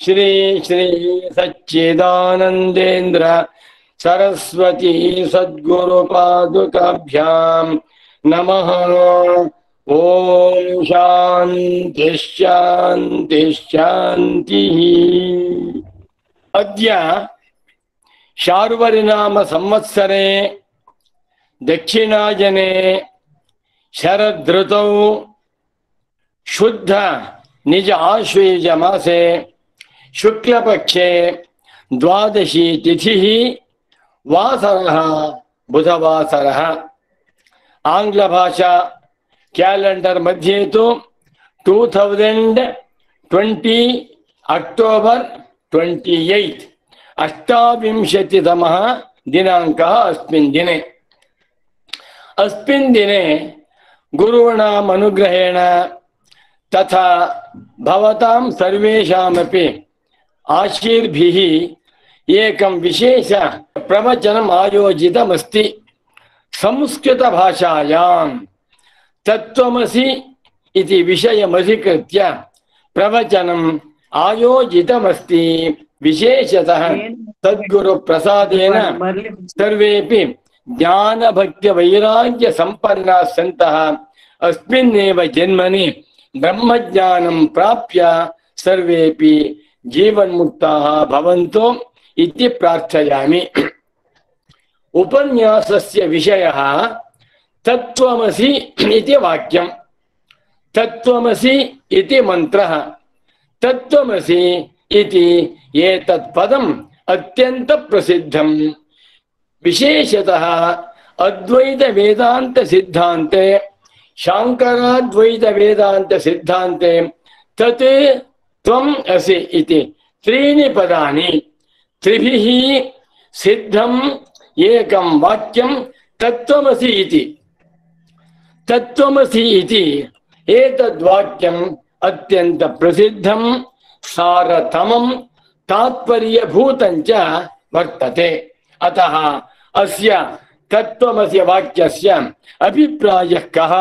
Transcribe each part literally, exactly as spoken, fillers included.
श्री श्री सच्चिदानंदेन्द्र सरस्वती सद्गुरुपादुकाभ्यां नमः। ओम शांति शांति शांति। अद्य शार्वरिनाम संवत्सरे दक्षिणायने शरदृतौ शुद्ध निज आश्वेज मासे शुक्लपक्षे द्वादशी तिथिः वासरः बुधवासरः। आंग्ल भाषा कैलेंडर मध्ये तो two thousand twenty October twenty eight अष्टाविंशतितमः दिनांकः अस्मिन् दिने। अस्मिन् दिने गुरूणाम् अनुग्रहेण तथा भवतां सर्वेषामपि आशीर्भिः एकं विशेष प्रवचनम् आयोजितमस्ति। संस्कृत भाषायां तत्त्वमसि इति विषयमधिकृत्य प्रवचनम् आयोजितमस्ति। विशेषतः सद्गुरु प्रसादेन सर्वेपि ज्ञान भक्ति वैराग्य संपन्नाः सन्तः अस्मिन्नेव जन्मनि ब्रह्मज्ञानं प्राप्य सर्वेपि जीवन्मुक्ताः भवन्तु इति प्रार्थयामि। उपन्यासस्य विषयः तत्त्वमसि इति वाक्यं। तत्त्वमसि इति मन्त्रः। तत्त्वमसि इति एतत् पदम् अत्यन्त प्रसिद्धं। विशेषतः अद्वैत वेदांत सिद्धान्ते शांकराद्वैत वेदांत सिद्धान्ते तत् त्वम् असि इति त्रीणि पदानि त्रिभिः सिद्धम् एकं वाक्यं तत्त्वमसि इति। तत्त्वमसि इति एतद्वाक्यम् अत्यन्त प्रसिद्धं सारतमं तात्पर्यभूतं च वर्तते। अतः अस्य तत्त्वमसि वाक्यस्य अभिप्रायः कः,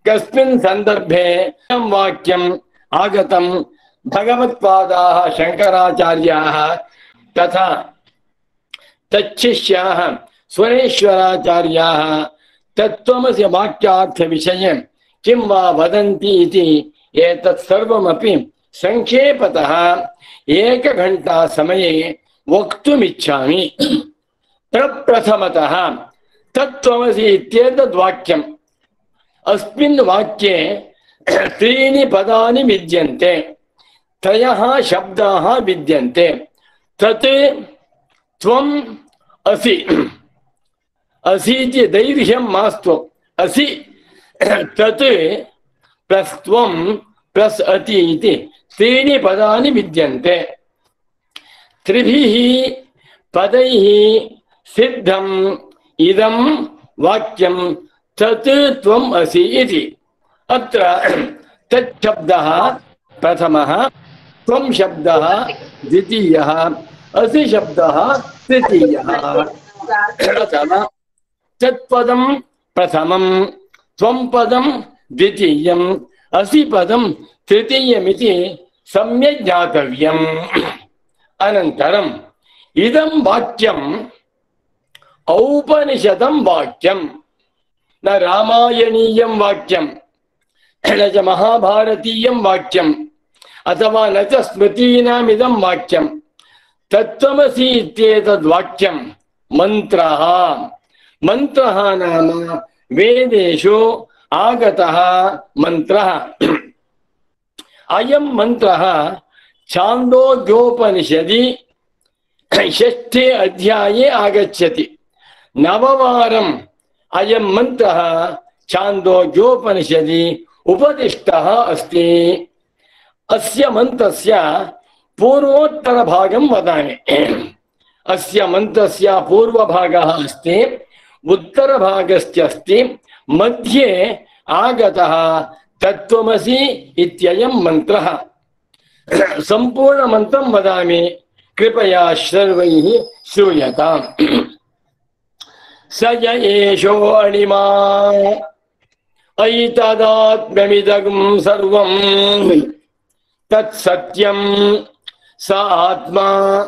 कस्मिन् सन्दर्भे अयं वाक्यम् आगतं, भगवत्पादाः शंकराचार्याः तथा तच्छिष्याः स्वरेश्वराचार्याः तत्त्वमसि वाक्यार्थ विषये किं वा वदन्ति इति एतत् सर्वमपि संक्षेपतः एकघण्टा समये वक्तुमिच्छामि। प्रप्रथमतः तत्त्वमसि इत्येतद् वाक्यम्। अस्मिन् वाक्ये त्रीणि पदानि विद्यन्ते, त्रयः शब्दाः विद्यन्ते। तत् त्वम् असि। असि इति दैर्घ्यं मास्तु। असि तत् प्लस् त्वं प्लस् अति इति त्रीणि पदानि विद्यन्ते। त्रिभिः पदैः सिद्धम् इदं वाक्यं तत् त्वम् असि इति। अत्र तत् शब्दः प्रथमः, त्वं शब्दः द्वितीयः, असि शब्दः तृतीयः। तत्पदं प्रथमं, त्वं पदं द्वितीयं, असि पदं तृतीयमिति सम्यक् ज्ञातव्यम्। अनन्तरम् इदं वाक्यम् औपनिषदं वाक्यं, न रामायणीयं वाक्यं, न च महाभारतीयं वाक्यं, अथवा न च स्मृतीनामिदं वाक्यं। तत्त्वमसि इत्येतद् वाक्यं मन्त्रः। मन्त्रः नाम वेदेषु आगतः मन्त्रः। अयं मन्त्रः छान्दोग्योपनिषदि षष्ठे अध्याये आगच्छति। नववारम् अयं मन्त्रः छान्दोग्योपनिषदि उपदिष्टः अस्ति। अस्य मन्त्रस्य पूर्वोत्तरभागं वदामि। अस्य मन्त्रस्य पूर्वभागः अस्ति, उत्तरभागस्य अस्ति, मध्ये आगतः तत्त्वमसि इत्ययं मन्त्रः। सम्पूर्णमन्त्रं वदामि, कृपया सर्वैः श्रूयताम्। स य एषो अणिमा ऐतदात्म्यमिदं सर्वं तत्सत्यं स आत्मा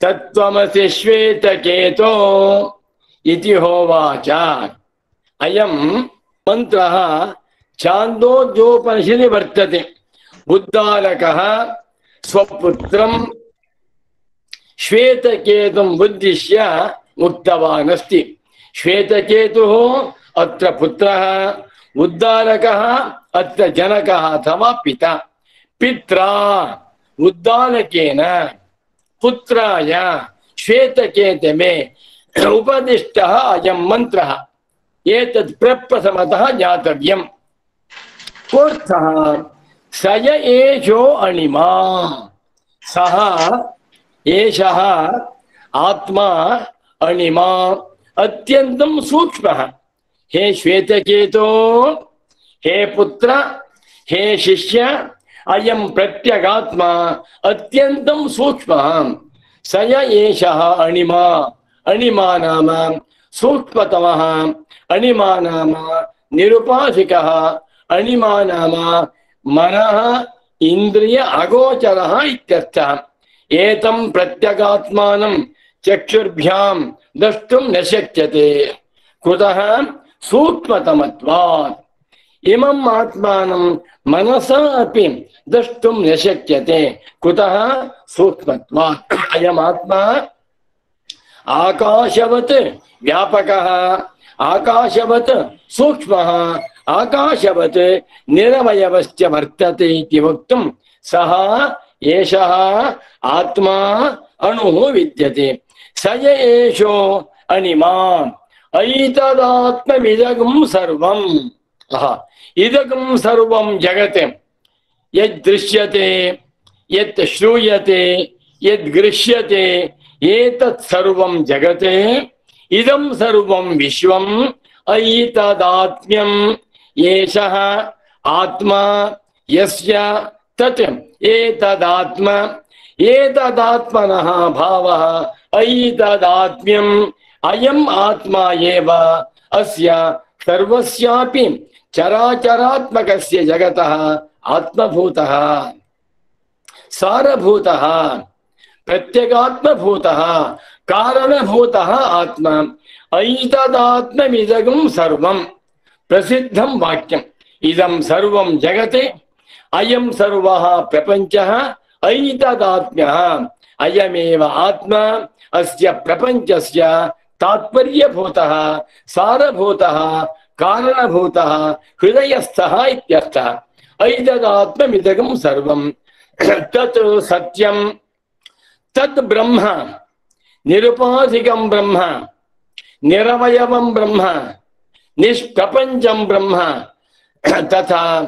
तत्त्वमसि श्वेतकेतो इति होवाच। अयं मंत्रः छान्दोग्योपनिषदि वर्तते। उद्दालकः स्वपुत्रं श्वेतकेतुं उद्दिश्य उक्तवान् अस्ति। श्वेतकेतुः अत्र पुत्रः, उद्दालकः अत्र जनकः अथवा पिता। पित्रा उद्दालकेन पुत्राय श्वेतकेतवे उपदिष्टः अयं मन्त्रः। एतत् प्रप्रथमतः ज्ञातव्यम्। कोऽर्थः? स एषो अणिमा, सः एषः आत्मा अणिमा अत्यन्तं सूक्ष्मः। हे श्वेतकेतो, हे पुत्र, हे शिष्य, अयं प्रत्यगात्मा अत्यन्तं सूक्ष्मः। स एषः अणिमा, अणिमा नाम सूक्ष्मतमः, अणिमा नाम निरुपाधिकः, अणिमा नाम मनः इंद्रिय अगोचरः इत्यर्थः। एतं प्रत्यगात्मानं चक्षुर्भ्यां द्रष्टुं न शक्यते। कुतः? सूक्ष्मतमत्वात्। इमम् आत्मानं मनसा अपि द्रष्टुं न शक्यते। कुतः? सूक्ष्मत्वात्। अयम् आत्मा आकाशवत् व्यापकः, आकाशवत् सूक्ष्मः, आकाशवत् निरवयवश्च वर्तते इति वक्तुं सः एषः आत्मा अणुः विद्यते। स एषो अणिमा ऐतदात्ममिदगं सर्वम्। इदगं सर्वं जगत् यद्दृश्यते, यत् श्रूयते, यद्गृह्यते, एतत् सर्वं जगत्, इदं सर्वं विश्वम् ऐतदात्म्यम् एषः आत्मा यस्य तत् एतदात्मा। एतदात्मनः भावः ऐतदात्म्यम्। अयम् आत्मा एव अस्य सर्वस्यापि चराचरात्मकस्य जगतः आत्मभूतः, सारभूतः, प्रत्यगात्मभूतः, कारणभूतः आत्मा। ऐतदात्ममिदगं सर्वं प्रसिद्धं वाक्यम्। इदं सर्वं जगत्, अयं सर्वः प्रपञ्चः ऐतदात्म्यः। अयमेव आत्मा अस्य प्रपञ्चस्य तात्पर्यभूतः, सारभूतः, कारणभूतः, हृदयस्थः इत्यर्थः। ऐतदात्ममिदगं सर्वं तत् सत्यं, तत् ब्रह्म, निरुपाधिकं ब्रह्म, निरवयवं ब्रह्म, निष्प्रपञ्चं ब्रह्म, तथा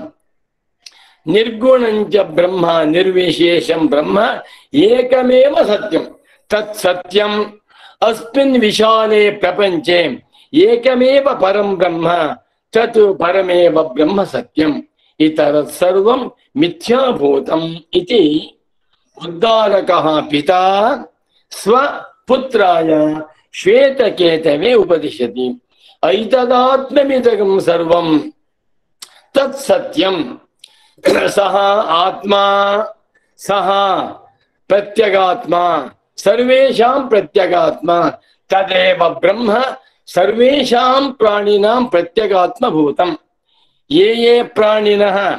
निर्गुणं च ब्रह्म, निर्विशेषं ब्रह्म एकमेव सत्यं। तत् सत्यम् अस्मिन् विशाले प्रपञ्चे एकमेव परं ब्रह्म, तत् परमेव ब्रह्म सत्यम्। इतरत् सर्वं मिथ्याभूतम् इति उद्दालकः पिता स्वपुत्राय श्वेतकेतवे उपदिशति। ऐतदात्ममिदगं सर्वं तत् सत्यम्। सः आत्मा, सः प्रत्यगात्मा, सर्वेषां प्रत्यगात्मा, तदेव ब्रह्म सर्वेषां प्राणिनां प्रत्यगात्मभूतम्। ये ये प्राणिनः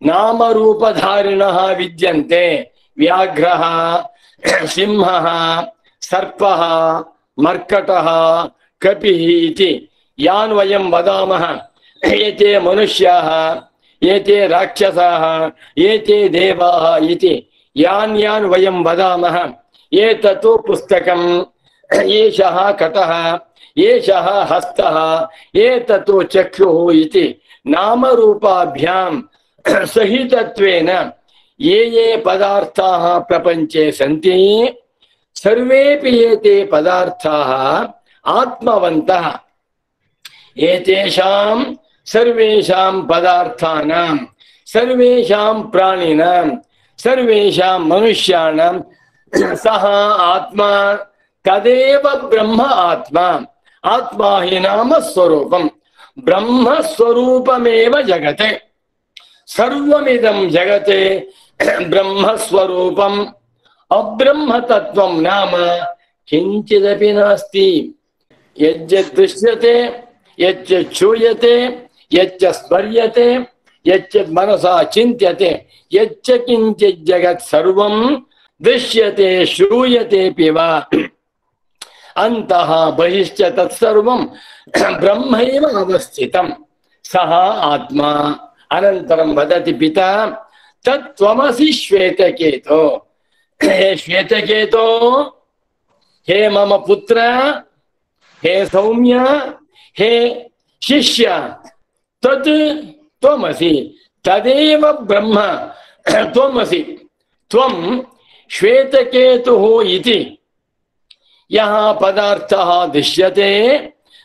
नामरूपधारिणः विद्यन्ते, व्याघ्रः, सिंहः, सर्पः, मर्कटः, कपिः इति यान् वयं वदामः, एते मनुष्याः, एते राक्षसाः, एते देवाः इति यान् यान् वयं वदामः, एतत् पुस्तकम्, एषः कटः, एषः हस्तः, एतत् चक्षुः इति नामरूपाभ्यां सहितत्वेन ये ये पदार्थाः प्रपञ्चे सन्ति, सर्वेपि एते पदार्थाः आत्मवन्तः। एतेषां सर्वेषां पदार्थानां, सर्वेषां प्राणिनां, सर्वेषां मनुष्याणां सः आत्मा, तदेव ब्रह्म आत्मा। आत्मा हि नाम स्वरूपम्। ब्रह्मस्वरूपमेव जगत्। सर्वमिदं जगत् ब्रह्मस्वरूपम्। अब्रह्म तत्त्वं नाम किंचिदपि नास्ति। यज्जत् दृश्यते, यच्च श्रूयते, यच्च स्मर्यते, यच्च मनसा चिन्त्यते, यच्च किंचित् जगत् सर्वं दृश्यते श्रूयतेऽपि वा अन्तः बहिश्च तत्सर्वं ब्रह्मैव अवस्थितं सः आत्मा। अनन्तरं वदति पिता तत्त्वमसि श्वेतकेतो। हे श्वेतकेतो, हे मम पुत्र, हे सौम्य, हे शिष्य, तत् त्वमसि, तदेव ब्रह्म त्वमसि। त्वं श्वेतकेतुः इति यः पदार्थः दृश्यते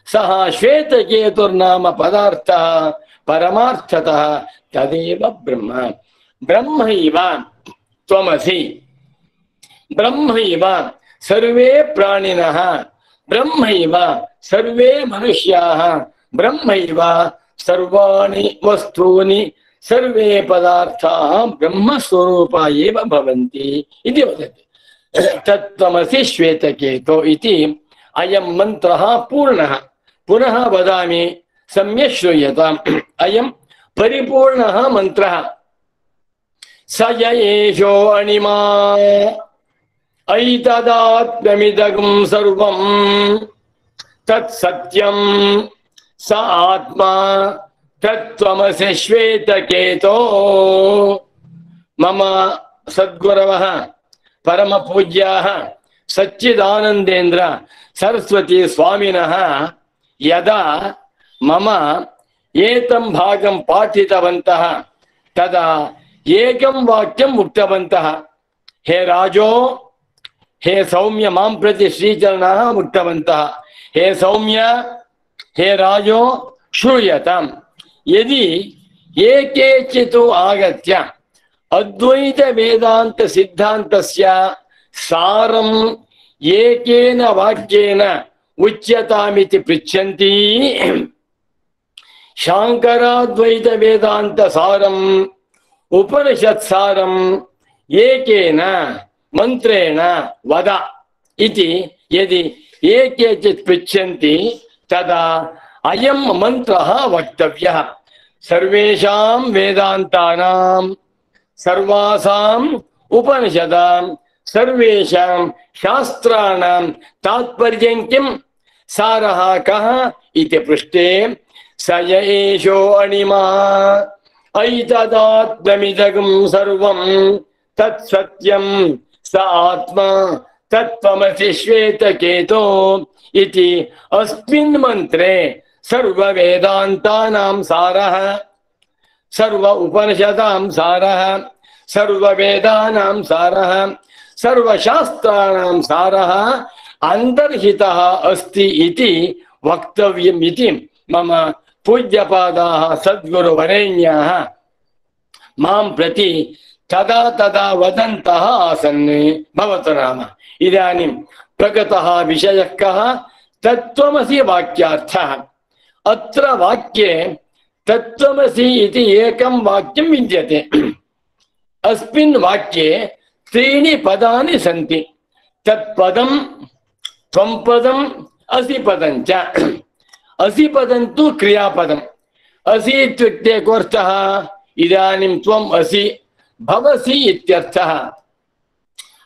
सः श्वेतकेतुर्नाम पदार्थः परमार्थतः तदेव ब्रह्म। ब्रह्मैव त्वमसि, ब्रह्मैव सर्वे प्राणिनः, ब्रह्मैव सर्वे मनुष्याः, ब्रह्मैव सर्वाणि वस्तूनि, सर्वे पदार्थाः ब्रह्मस्वरूपा एव भवन्ति इति वदति। तत्त्वमसि श्वेतकेतो इति अयं मन्त्रः पूर्णः। पुनः वदामि, सम्यक् श्रूयताम्। अयं परिपूर्णः मन्त्रः। स य एषो अणिमा ऐतदात्म्यमिदं सर्वं तत्सत्यं स आत्मा तत्त्वमसि श्वेतकेतो। मम सद्गुरवः परम पूज्याः सच्चिदानंदेन्द्र सरस्वती स्वामिनः यदा मम एतं भागं पाठितवन्तः तदा एकं वाक्यम् उक्तवन्तः। हे राजो, हे सौम्य, मां प्रति श्रीचरणाः उक्तवन्तः, हे सौम्य, हे राजो श्रूयताम्। यदि एकेचित् आगत्य अद्वैत वेदांत सिद्धान्तस्य सारम् एकेन वाक्येन उच्यतामिति पृच्छन्ति, शांकराद्वैत वेदांत सारम् उपनिषत् सारम् एकेन मंत्रेण वद इति यदि एकेचित् पृच्छन्ति तदा अयं मन्त्रः वक्तव्यः। सर्वेषां वेदान्तानां, सर्वासाम् उपनिषदां, सर्वेषां शास्त्राणां तात्पर्यं किं, सारः कः इति पृष्टे स य एषो अणिमा ऐतदात्म्यमिदं सर्वं तत्सत्यं स आत्मा तत्त्वमसि श्वेतकेतो इति अस्मिन् मन्त्रे सर्ववेदान्तानां सारः, सर्व उपनिषदां सारः, सर्ववेदानां सारः, सर्वशास्त्राणां सारः अन्तर्हितः अस्ति इति वक्तव्यम् इति मम पूज्यपादाः सद्गुरुवरेण्याः मां प्रति तदा तदा वदन्तः आसन्। भवतु नाम इदानीं प्रगतः विषयः कः? तत्त्वमसि वाक्यार्थः। अत्र वाक्ये तत्त्वमसि इति एकं वाक्यं विद्यते। अस्मिन् वाक्ये त्रीणि पदानि सन्ति। तत्पदं, त्वं पदम्, असि पदं च। असि पदं तु क्रियापदम्। असि इत्युक्ते कोऽर्थः? इदानीं त्वम् असि भवसि इत्यर्थः।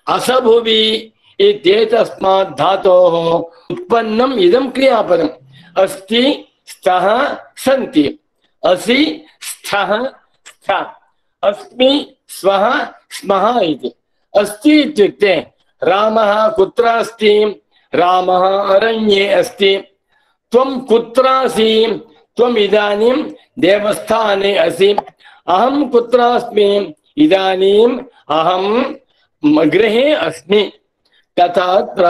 असभुवि इत्येतस्मात् धातोः उत्पन्नम् इदं क्रियापदम्। अस्ति, स्तः, सन्ति। असि, स्थः, स्थ। अस्मि, स्वः, स्मः इति। अस्ति इत्युक्ते रामः कुत्र अस्ति? रामः अरण्ये अस्ति। त्वं कुत्र असि? त्वम् इदानीं देवस्थाने असि। अहं कुत्र अस्मि? इदानीम् अहं गृहे अस्मि। तथा अत्र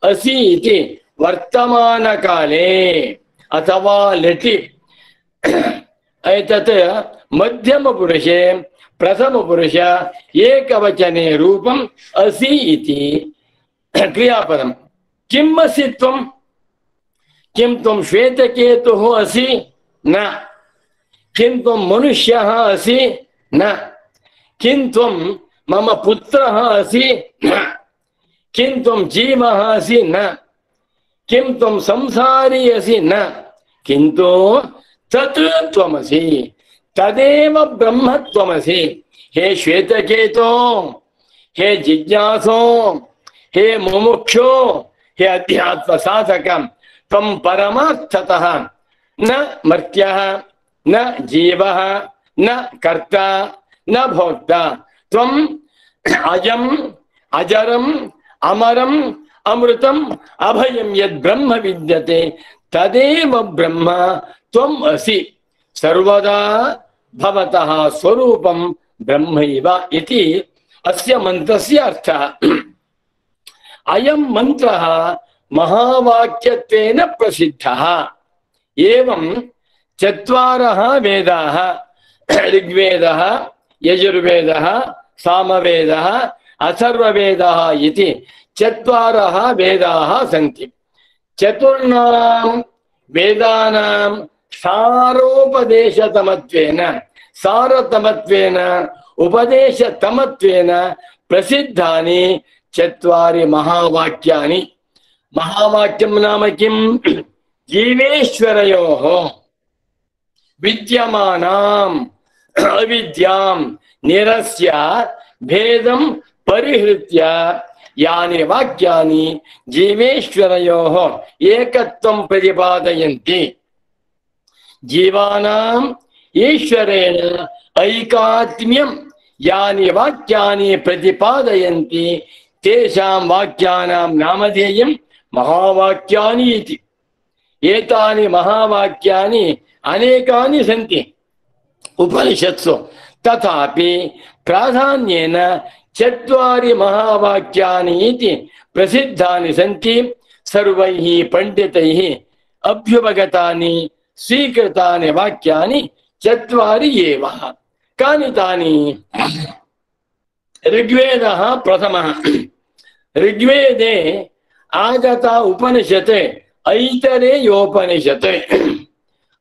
असि इति वर्तमानकाले अथवा लटि एतत् मध्यमपुरुषे प्रथमपुरुष एकवचने रूपम् असि इति क्रियापदम्। किम् असि त्वम्? किं त्वं श्वेतकेतुः असि? न। किं त्वं मनुष्यः असि? न। किं त्वं मम पुत्रः असि किं त्वं जीवः असि न, किं त्वं संसारी असि न, किन्तु तत् त्वमसि, तदेव ब्रह्म त्वमसि। हे श्वेतकेतो, हे जिज्ञासो, हे मुमुक्षो, हे अध्यात्म साधकं, त्वं परमार्थतः न मर्त्यः, न जीवः, न कर्ता, न भोक्ता, त्वम् अजम् अजरम् अमरम् अमृतम् अभयं यद् ब्रह्म विद्यते तदेव ब्रह्म त्वम् असि, सर्वदा भवतः स्वरूपं ब्रह्मैव इति अस्य मन्त्रस्य अर्थः। अयं मन्त्रः महावाक्यत्वेन प्रसिद्धः। एवं चत्वारः वेदाः, ऋग्वेदः, यजुर्वेदः, सामवेदः, अथर्ववेदः इति चत्वारः वेदाः सन्ति। चतुर्णां वेदानां सारोपदेशतमत्वेन सारतमत्वेन उपदेशतमत्वेन प्रसिद्धानि चत्वारि महावाक्यानि। महावाक्यं नाम किं? जीवेश्वरयोः विद्यमानाम् अविद्यां निरस्य भेदं परिहृत्य यानि वाक्यानि जीवेश्वरयोः एकत्वं प्रतिपादयन्ति। जीवानाम् ईश्वरेण ऐकात्म्यं यानि वाक्यानि प्रतिपादयन्ति तेषां वाक्यानां नामधेयं महावाक्यानि इति। एतानि महावाक्यानि अनेकानि सन्ति उपनिषत्सु, तथापि प्राधान्येन चत्वारि महावाक्यानि इति प्रसिद्धानि सन्ति। सर्वैः पण्डितैः अभ्युपगतानि स्वीकृतानि वाक्यानि चत्वारि एव। कानि तानि? ऋग्वेदः प्रथमः। ऋग्वेदे आगता उपनिषत् ऐतरेयोपनिषत्।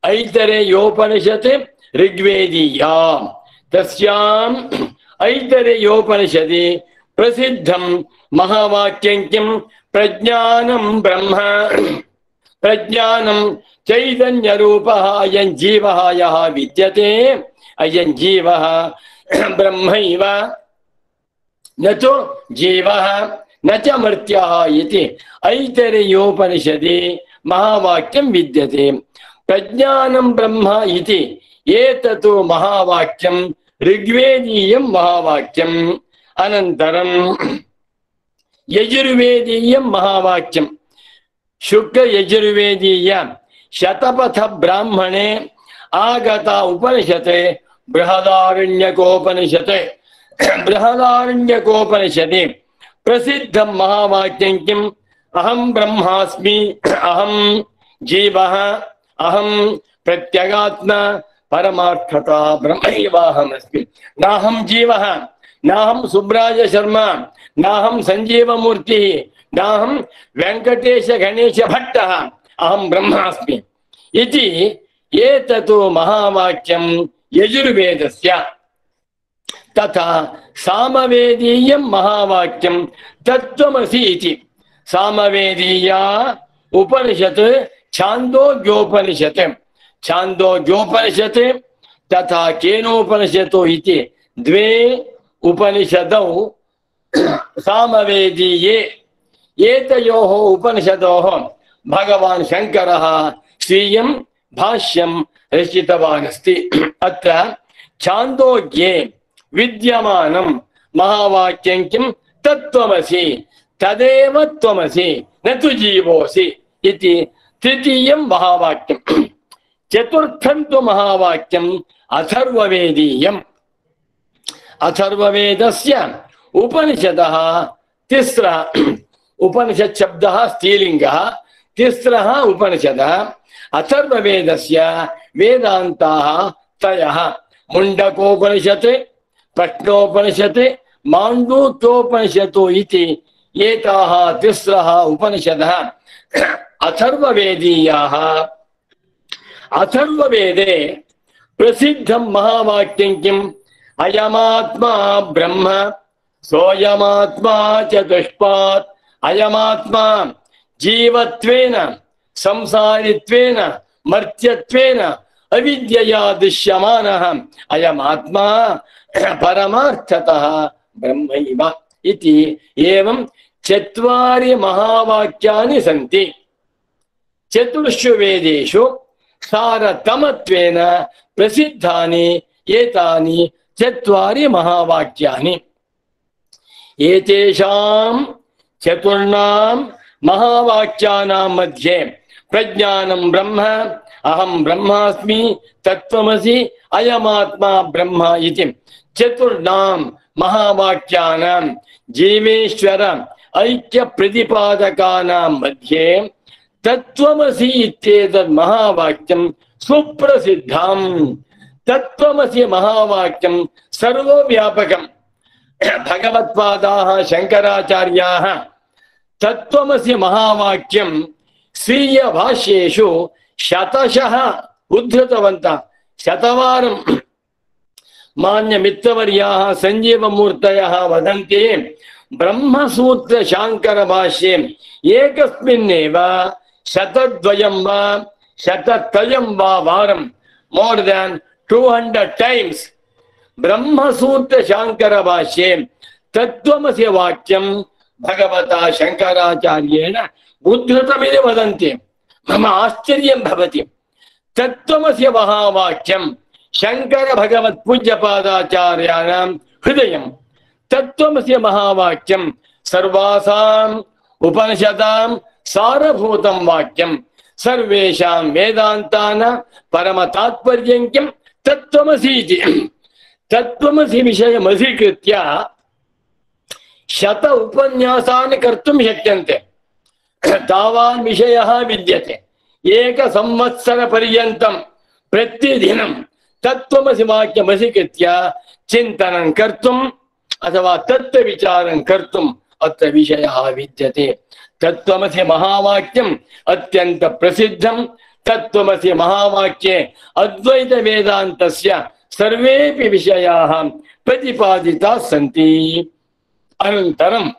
ऐतरेयोपनिषत् ऋग्वेदीया। तस्याम् ऐतरेयोपनिषदि प्रसिद्धं महावाक्यं किं? प्रज्ञानं ब्रह्म, प्रज्ञानं चैतन्यरूपः अयं जीवः यः विद्यते, अयं जीवः ब्रह्मैव, न तु जीवः न च मर्त्यः इति ऐतरेयोपनिषदि महावाक्यं विद्यते। प्रज्ञानं ब्रह्म इति एतत् महावाक्यं ऋग्वेदीयं महावाक्यम्। अनन्तरं यजुर्वेदीयं महावाक्यं। शुक्ल यजुर्वेदीय शतपथ ब्राह्मणे आगता उपनिषत् बृहदारण्यकोपनिषत्। बृहदारण्यकोपनिषदि प्रसिद्धं महावाक्यं किम्? अहं ब्रह्मास्मि, अहं जीवः, अहं प्रत्यगात्मा परमार्थता ब्रह्मैवाहमस्मि। नाहं जीवः, नाहं सुब्राज शर्मा, नाहं सञ्जीवमूर्तिः, नाहं वेङ्कटेश गणेश भट्टः, अहं ब्रह्मास्मि इति एतत् महावाक्यं यजुर्वेदस्य। तथा सामवेदीयं महावाक्यं तत्त्वमसि इति। सामवेदीया उपनिषत् छान्दोग्योपनिषत्। छान्दोग्योपनिषत् तथा केनोपनिषतो इति द्वे उपनिषदौ सामवेदीये। एतयोः उपनिषदोः भगवान् शङ्करः स्वीयं भाष्यं रचितवान् अस्ति। अत्र छान्दोग्ये विद्यमानं महावाक्यं किं? तत्त्वमसि, तदेव त्वमसि, न तु जीवोऽसि इति तृतीयं महावाक्यं। चतुर्थं तु महावाक्यम् अथर्ववेदीयम्। अथर्ववेदस्य उपनिषदः तिस्रः। उपनिषत् शब्दः स्त्रीलिङ्गः। तिस्रः उपनिषदः। अथर्ववेदस्य वेदान्ताः त्रयः। मुण्डकोपनिषत्, प्रश्नोपनिषत्, माण्डूक्योपनिषत् इति एताः तिस्रः उपनिषदः अथर्ववेदीयाः। अथर्ववेदे प्रसिद्धं महावाक्यं किम्? अयमात्मा ब्रह्म सोऽयमात्मा चतुष्पात् अयमात्मा जीवत्वेन संसारित्वेन मर्त्यत्वेन अविद्यया दृश्यमानः अयमात्मा परमार्थतः ब्रह्मैव इति एवं चत्वारि महावाक्यानि सन्ति। चतुर्षु वेदेषु सारतमत्वेन प्रसिद्धानि एतानि चत्वारि महावाक्यानि। एतेषां चतुर्णां महावाक्यानां मध्ये प्रज्ञानं ब्रह्म, अहं ब्रह्मास्मि, तत्त्वमसि, अयमात्मा ब्रह्म इति चतुर्णां महावाक्यानां जीवेश्वर ऐक्य प्रतिपादकानां मध्ये तत्त्वमसि इत्येतत् महावाक्यं सुप्रसिद्धम्। तत्त्वमसि महावाक्यं सर्वव्यापकम्। भगवत्पादाः शंकराचार्याः तत्त्वमसि महावाक्यं स्वीय भाष्येषु शतशः उद्धृतवन्तः। शतवारं मान्य मित्रवर्याः संजीवमूर्तयः वदन्ति ब्रह्मसूत्र शांकर भाष्ये एकस्मिन्नेव शतद्वयं वा शतत्रयं वा वारं more than two hundred times Brahmasutra शांकर भाष्ये तत्त्वमसि वाक्यं भगवता शंकराचार्येण उद्धृतमिति वदन्ति। मम आश्चर्यं भवति। तत्त्वमसि महावाक्यं शंकर भगवत् पूज्यपादाचार्याणां हृदयं। तत्त्वमसि महावाक्यं सर्वासाम् उपनिषदां सारभूतं वाक्यं। सर्वेषां वेदान्तानां परमतात्पर्यं किं तत्त्वमसि इति। तत्त्वमसि विषयमधिकृत्य शत उपन्यासानि कर्तुं शक्यन्ते। तावान् विषयः विद्यते। एक संवत्सर पर्यन्तं प्रतिदिनं तत्त्वमसि वाक्यमधिकृत्य चिन्तनं कर्तुम् अथवा तत्त्वविचारं कर्तुम् अत्र विषयः विद्यते। तत्त्वमसि महावाक्यम् अत्यन्त प्रसिद्धं। तत्त्वमसि महावाक्ये अद्वैत वेदान्तस्य सर्वेपि विषयाः प्रतिपादिताः सन्ति। अनन्तरं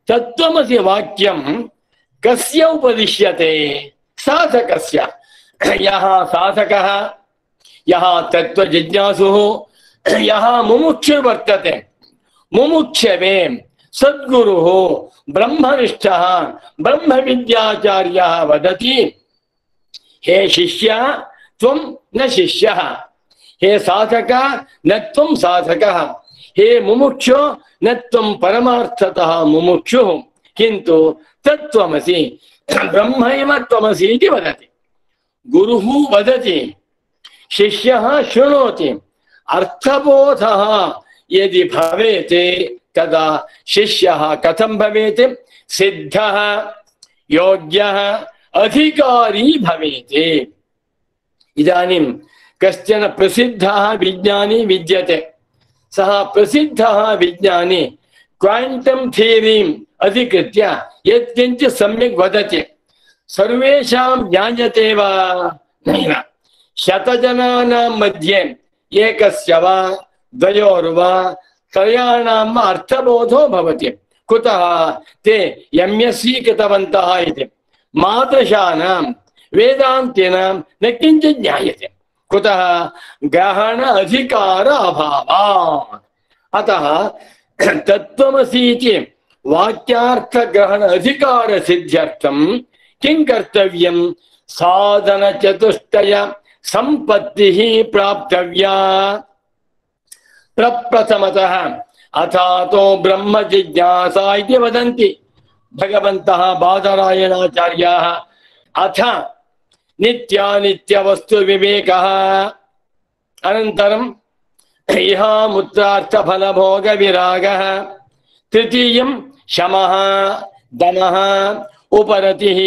तत्त्वमसि वाक्यं कस्य उपदिश्यते? साधकस्य। यः साधकः, यः तत्त्वजिज्ञासुः, यः मुमुक्षुर्वर्तते, मुमुक्षवे सद्गुरुः ब्रह्मनिष्ठः ब्रह्मविद्याचार्यः वदति, हे शिष्य त्वं न शिष्यः, हे साधक न त्वं साधकः, हे मुमुक्षु न त्वं परमार्थतः मुमुक्षुः, किन्तु तत्त्वमसि ब्रह्मैव त्वमसि इति वदति। गुरुः वदति, शिष्यः शृणोति। अर्थबोधः यदि भवेत् तदा शिष्यः कथं भवेत्? सिद्धः, योग्यः, अधिकारी भवेत्। इदानीं कश्चन प्रसिद्धः विज्ञानी विद्यते। सः प्रसिद्धः विज्ञानी क्वांटम थ्योरीम् अधिकृत्य यत्किञ्चित् सम्यक् वदति। सर्वेषां ज्ञायते वा? नैव। शतजनानां मध्ये एकस्य वा द्वयोर्वा त्रयाणां वा अर्थबोधो भवति। कुतः? ते एम् एस् सी कृतवन्तः इति। मादृशानां वेदान्तिनां न किञ्चित् ज्ञायते। कुतः? ग्रहण अधिकार अभावात्। अतः तत्त्वमसि इति वाक्यार्थ ग्रहण अधिकार सिद्ध्यर्थं किं कर्तव्यं? साधन चतुष्टय संपत्तिः प्राप्तव्या। प्रप्रथमतः अथातो ब्रह्म जिज्ञासा इति वदन्ति भगवन्तः बादरायणाचार्याः। अथ नित्यानित्य वस्तु विवेकः, अनन्तरं इहामुत्रार्थ फल भोग विरागः, तृतीयं शमः दमः उपरतिः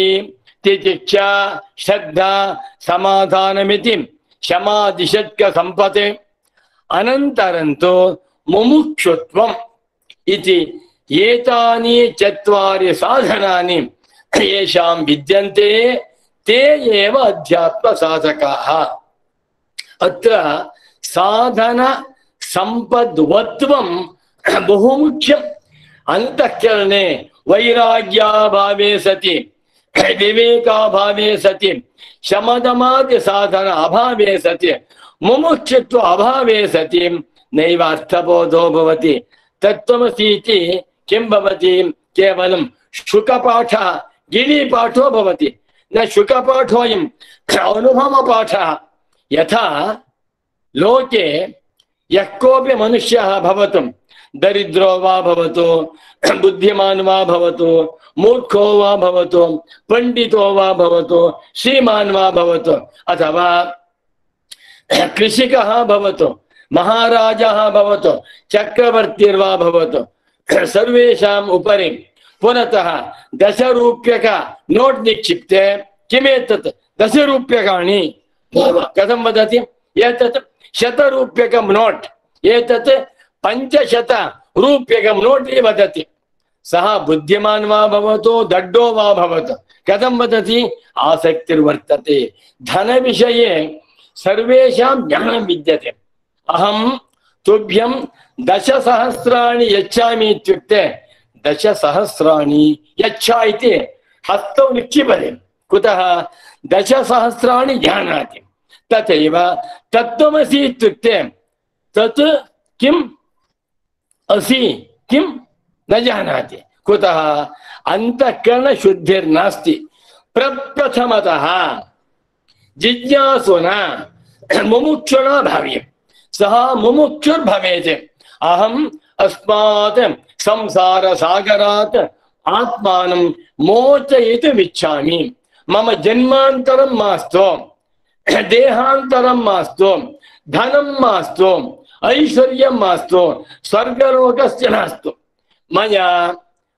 तितिक्षा श्रद्धा समाधानमिति शमादिषट्क संपते, अनन्तरं तु मुमुक्षुत्वम् इति एतानि चत्वारि साधनानि येषां विद्यन्ते ते एव अध्यात्म साधकाः। अत्र साधन संपद्वत्वं बहुमुख्यम् अंतःकरणे वैराग्याभावे सति विवेकाभावे सति शमदमादि साधन अभावे सति मुमुक्षुत्व अभावे सति नैव अर्थबोधो भवति। तत्त्वमसि इति किं भवति? केवलं शुकपाठः गिरिपाठो भवति, न शुकपाठोऽयम् अनुभवपाठः। यथा लोके यः कोऽपि मनुष्यः भवतु, दरिद्रो वा भवतु, बुद्धिमान् वा भवतु, मूर्खो वा भवतु, पंडितो वा भवतु, श्रीमान् वा भवतु, अथवा कृषिकः भवतु, महाराजः भवतु, चक्रवर्तिर्वा भवतु, सर्वेषाम् उपरि पुरतः दशरूप्यक नोट् निक्षिप्ते किमेतत् दशरूप्यकाणि कथं वदति? एतत् शतरूप्यकं नोट्, एतत् पञ्चशत रूप्यकं नोट् इति वदति। सः बुद्धिमान् वा भवतु, दड्डो वा भवतु, कथं वदति? आसक्तिर्वर्तते। धनविषये सर्वेषां ज्ञानं विद्यते। अहं तुभ्यं दशसहस्राणि यच्छामि इत्युक्ते दशसहस्राणि यच्छा इति हस्तौ निक्षिपति। कुतः? दशसहस्राणि जानाति। तथैव तत्त्वमसि इत्युक्ते तत् किम् असि किं न जानाति। कुतः? अन्तःकरणशुद्धिर्नास्ति। प्रप्रथमतः जिज्ञासुना मुमुक्षुणा भाव्यम्। सः मुमुक्षुर्भवेत्। अहम् अस्मात् संसारसागरात् आत्मानं मोचयितुम् इच्छामि। मम जन्मान्तरं मास्तु, देहान्तरं मास्तु, धनं मास्तु, ऐश्वर्यं मास्तु, स्वर्गलोकस्य नास्तु। मया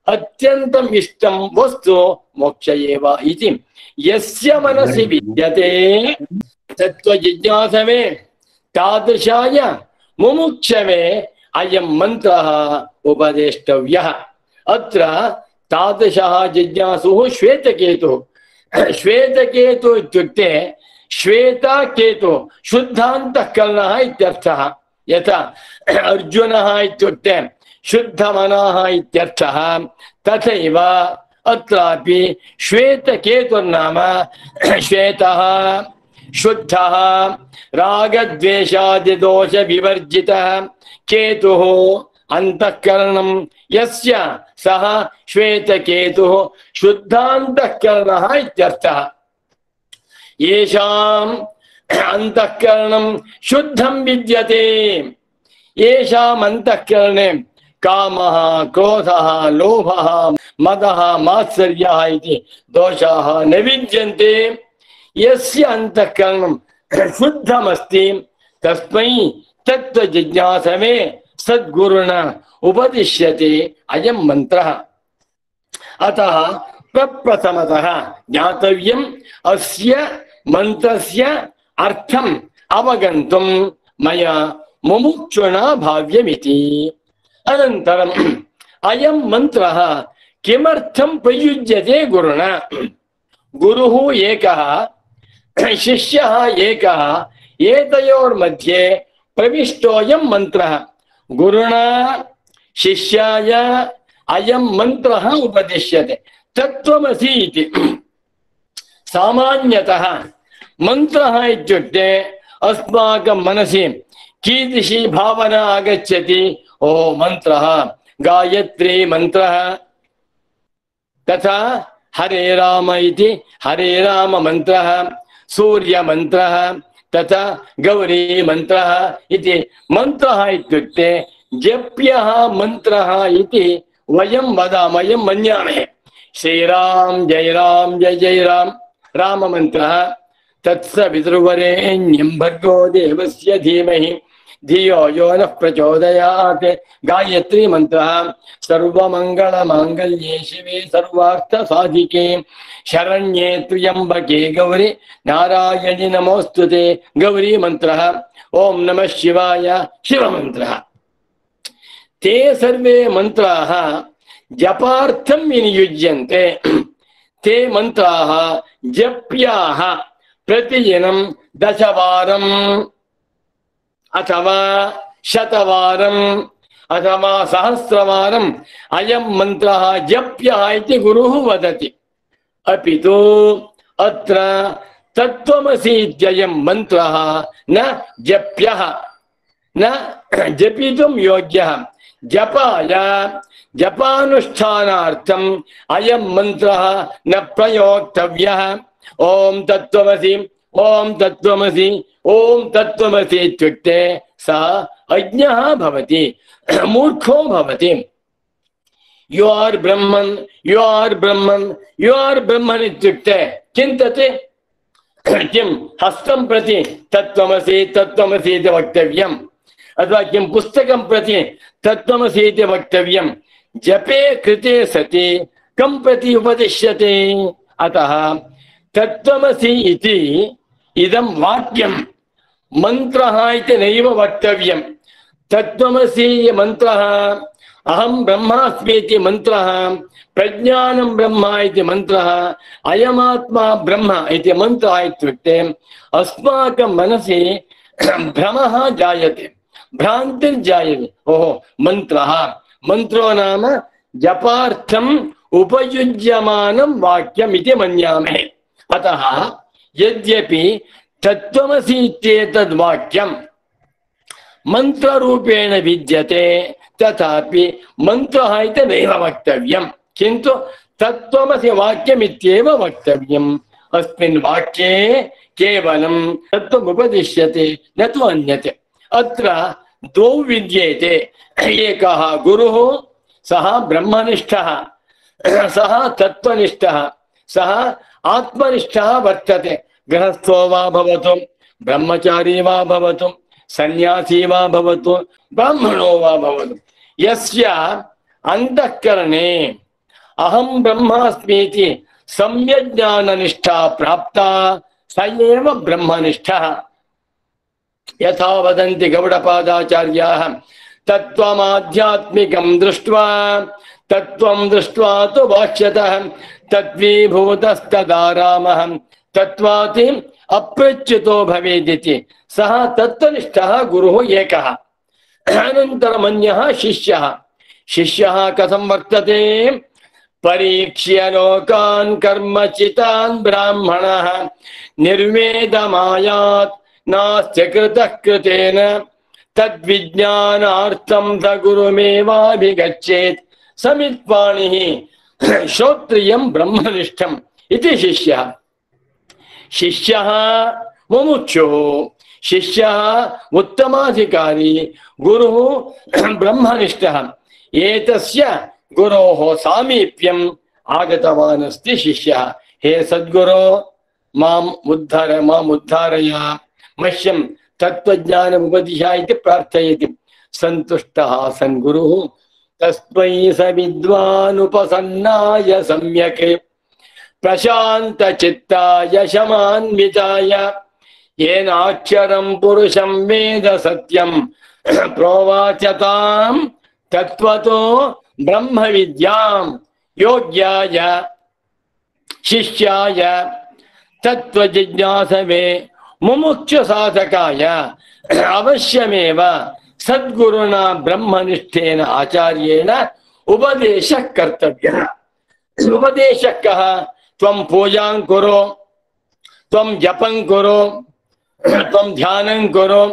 अत्यन्तम् इष्टं वस्तु मोक्ष एव इति यस्य मनसि विद्यते तत्त्वजिज्ञासवे तादृशाय मुमुक्षवे अयं मंत्रः उपदेष्टव्यः। अत्र तादृशः जिज्ञासुः श्वेतकेतुः। श्वेतकेतुः इत्युक्ते श्वेतकेतुः शुद्धान्तःकरणः इत्यर्थः। यथा अर्जुनः इत्युक्ते शुद्धमनः इत्यर्थः, तथैव अत्रापि श्वेतकेतुर्नाम श्वेतः शुद्धः रागद्वेषादिदोषविवर्जितः केतुः अंतःकरणं यस्य सः श्वेतकेतुः शुद्धान्तःकरणः इत्यर्थः। येषाम् अंतःकरणं शुद्धं विद्यते, येषाम् अंतःकरणे कामः, क्रोधः, लोभः, मदः, मात्सर्यः इति दोषाः न विद्यन्ते, यस्य अंतःकरणं शुद्धमस्ति तस्मै तत्त्वजिज्ञासवे सद्गुरुणा उपदिश्यते अयं मंत्रः। अतः प्रप्रथमतः ज्ञातव्यम् अस्य मंत्रस्य अर्थम् अवगन्तुं मया मुमुक्षुणा भाव्यमिति। अनन्तरम् अयं मंत्रः किमर्थं प्रयुज्यते गुरुणा? गुरुः एकः, शिष्यः एकः, एतयोर्मध्ये प्रविष्टोऽयं मंत्रः। गुरुणा शिष्याय अयं मंत्रः उपदिश्यते। तत्त्वमसि इति। सामान्यतः मंत्रः इत्युक्ते अस्माकं मनसि कीदृशी भावना आगच्छति? ओ मंत्रः, गायत्री मंत्रः, तथा हरे राम इति हरे राम मंत्रः, सूर्य मंत्रः, तथा गौरी मंत्रः इति मंत्रः इत्युक्ते जप्यः मंत्रः इति वयं वदामः, वयं मन्यामहे। श्रीराम जय राम जय जय राम राम मंत्रः, तत्सवितुर्वरेण्यं भर्गो देवस्य धीमहि धियो यो नः प्रचोदयात्। गायत्री मंत्रः सर्वमंगलमांगल्ये शिवे सर्वार्थसाधिके शरण्ये त्र्यंबके गौरी नारायणि नमोस्तुते। गौरी मंत्रः ओम नमः शिवाय शिव मंत्रः। ते सर्वे मंत्राः जपार्थं विनियुज्यन्ते। ते मंत्राः जप्याः प्रतिदिनं दशवारम् अथवा शतवारम् अथवा सहस्रवारम् अयं मन्त्रः जप्यः इति गुरुः वदति। अपि तु अत्र तत्त्वमसि इत्ययं मन्त्रः न जप्यः, न जपितुं योग्यः। जपाय जपानुष्ठानार्थम् अयं मन्त्रः न प्रयोक्तव्यः। ओम तत्त्वमसि ओम तत्त्वमसि ओम तत्त्वमसि इत्युक्ते सा अज्ञः भवति, मूर्खो भवति। यु आर् ब्रह्मन् यु आर् ब्रह्मन् यु आर् ब्रह्मन् इत्युक्ते चिन्तते किं हस्तं प्रति तत्त्वमसि तत्त्वमसि इति वक्तव्यम्, अथवा किं पुस्तकं प्रति तत्त्वमसि इति वक्तव्यं। जपे कृते सति कं प्रति उपदिश्यते? अतः तत्त्वमसि इति इदं वाक्यं मन्त्रः इति नैव वक्तव्यं। तत्त्वमसि मन्त्रः, अहं ब्रह्मास्मि इति मन्त्रः, प्रज्ञानं ब्रह्म इति मन्त्रः, अयमात्मा ब्रह्म इति मन्त्रः इत्युक्ते अस्माकं मनसि भ्रमः जायते, भ्रान्तिर्जायते। ओहो मन्त्रः, मन्त्रो नाम जपार्थम् उपयुज्यमानं वाक्यम् इति मन्यामहे। अतः यद्यपि तत्त्वमसि इत्येतद् वाक्यं मन्त्ररूपेण विद्यते तथापि मन्त्रः इति नैव वक्तव्यं, किन्तु तत्त्वमसि वाक्यमित्येव वक्तव्यम्। अस्मिन् वाक्ये केवलं तत्त्वम् उपदिश्यते न तु अन्यत्। अत्र द्वौ विद्येते, एकः गुरुः, सः ब्रह्मनिष्ठः, सः तत्त्वनिष्ठः, सः आत्मनिष्ठः वर्तते। गृहस्थो वा भवतु, ब्रह्मचारी वा भवतु, सन्यासी वा भवतु, ब्राह्मणो वा भवतु, यस्य अन्तःकरणे अहं ब्रह्मास्मि इति सम्यक् ज्ञाननिष्ठा प्राप्ता स एव ब्रह्मनिष्ठः। यथा वदन्ति गौडपादाचार्याः, तत्त्वमाध्यात्मिकं दृष्ट्वा तत्त्वं दृष्ट्वा तु भाष्यतः तद्विभूतस्तदा रामः तत्त्वाति अप्रच्युतो भवेदिति। सः तत्त्वनिष्ठः गुरुः एकः। अनन्तरम् अन्यः शिष्यः। शिष्यः कथं वर्तते? परीक्ष्य लोकान् कर्मचितान् ब्राह्मणः निर्वेदमायात् नास्ति कृतः कृतेन तद्विज्ञानार्थं स गुरुमेवाभिगच्छेत् समित्पाणिः श्रोत्रियं ब्रह्मनिष्ठम् इति शिष्यः। शिष्यः मुमुक्षुः, शिष्यः उत्तमाधिकारी, गुरुः ब्रह्मनिष्ठः। एतस्य गुरोः सामीप्यम् आगतवान् अस्ति शिष्यः। हे सद्गुरो माम् उद्धर माम् उद्धारय, मह्यं तत्त्वज्ञानम् उपदिश इति प्रार्थयति। सन्तुष्टः सन् गुरुः तस्मै स विद्वानुपसन्नाय सम्यक् प्रशान्तचित्ताय शमान्विताय येनाक्षरं पुरुषं वेद सत्यं प्रोवाचतां तत्त्वतो ब्रह्मविद्यां योग्याय शिष्याय तत्त्वजिज्ञासवे मुमुक्षुसाधकाय अवश्यमेव सद्गुरुना ब्रह्मनिष्ठेन आचार्येण उपदेशः कर्तव्यः। उपदेशः कः? त्वं पूजां कुरु, त्वं जपं कुरु, त्वं ध्यानं कुरु,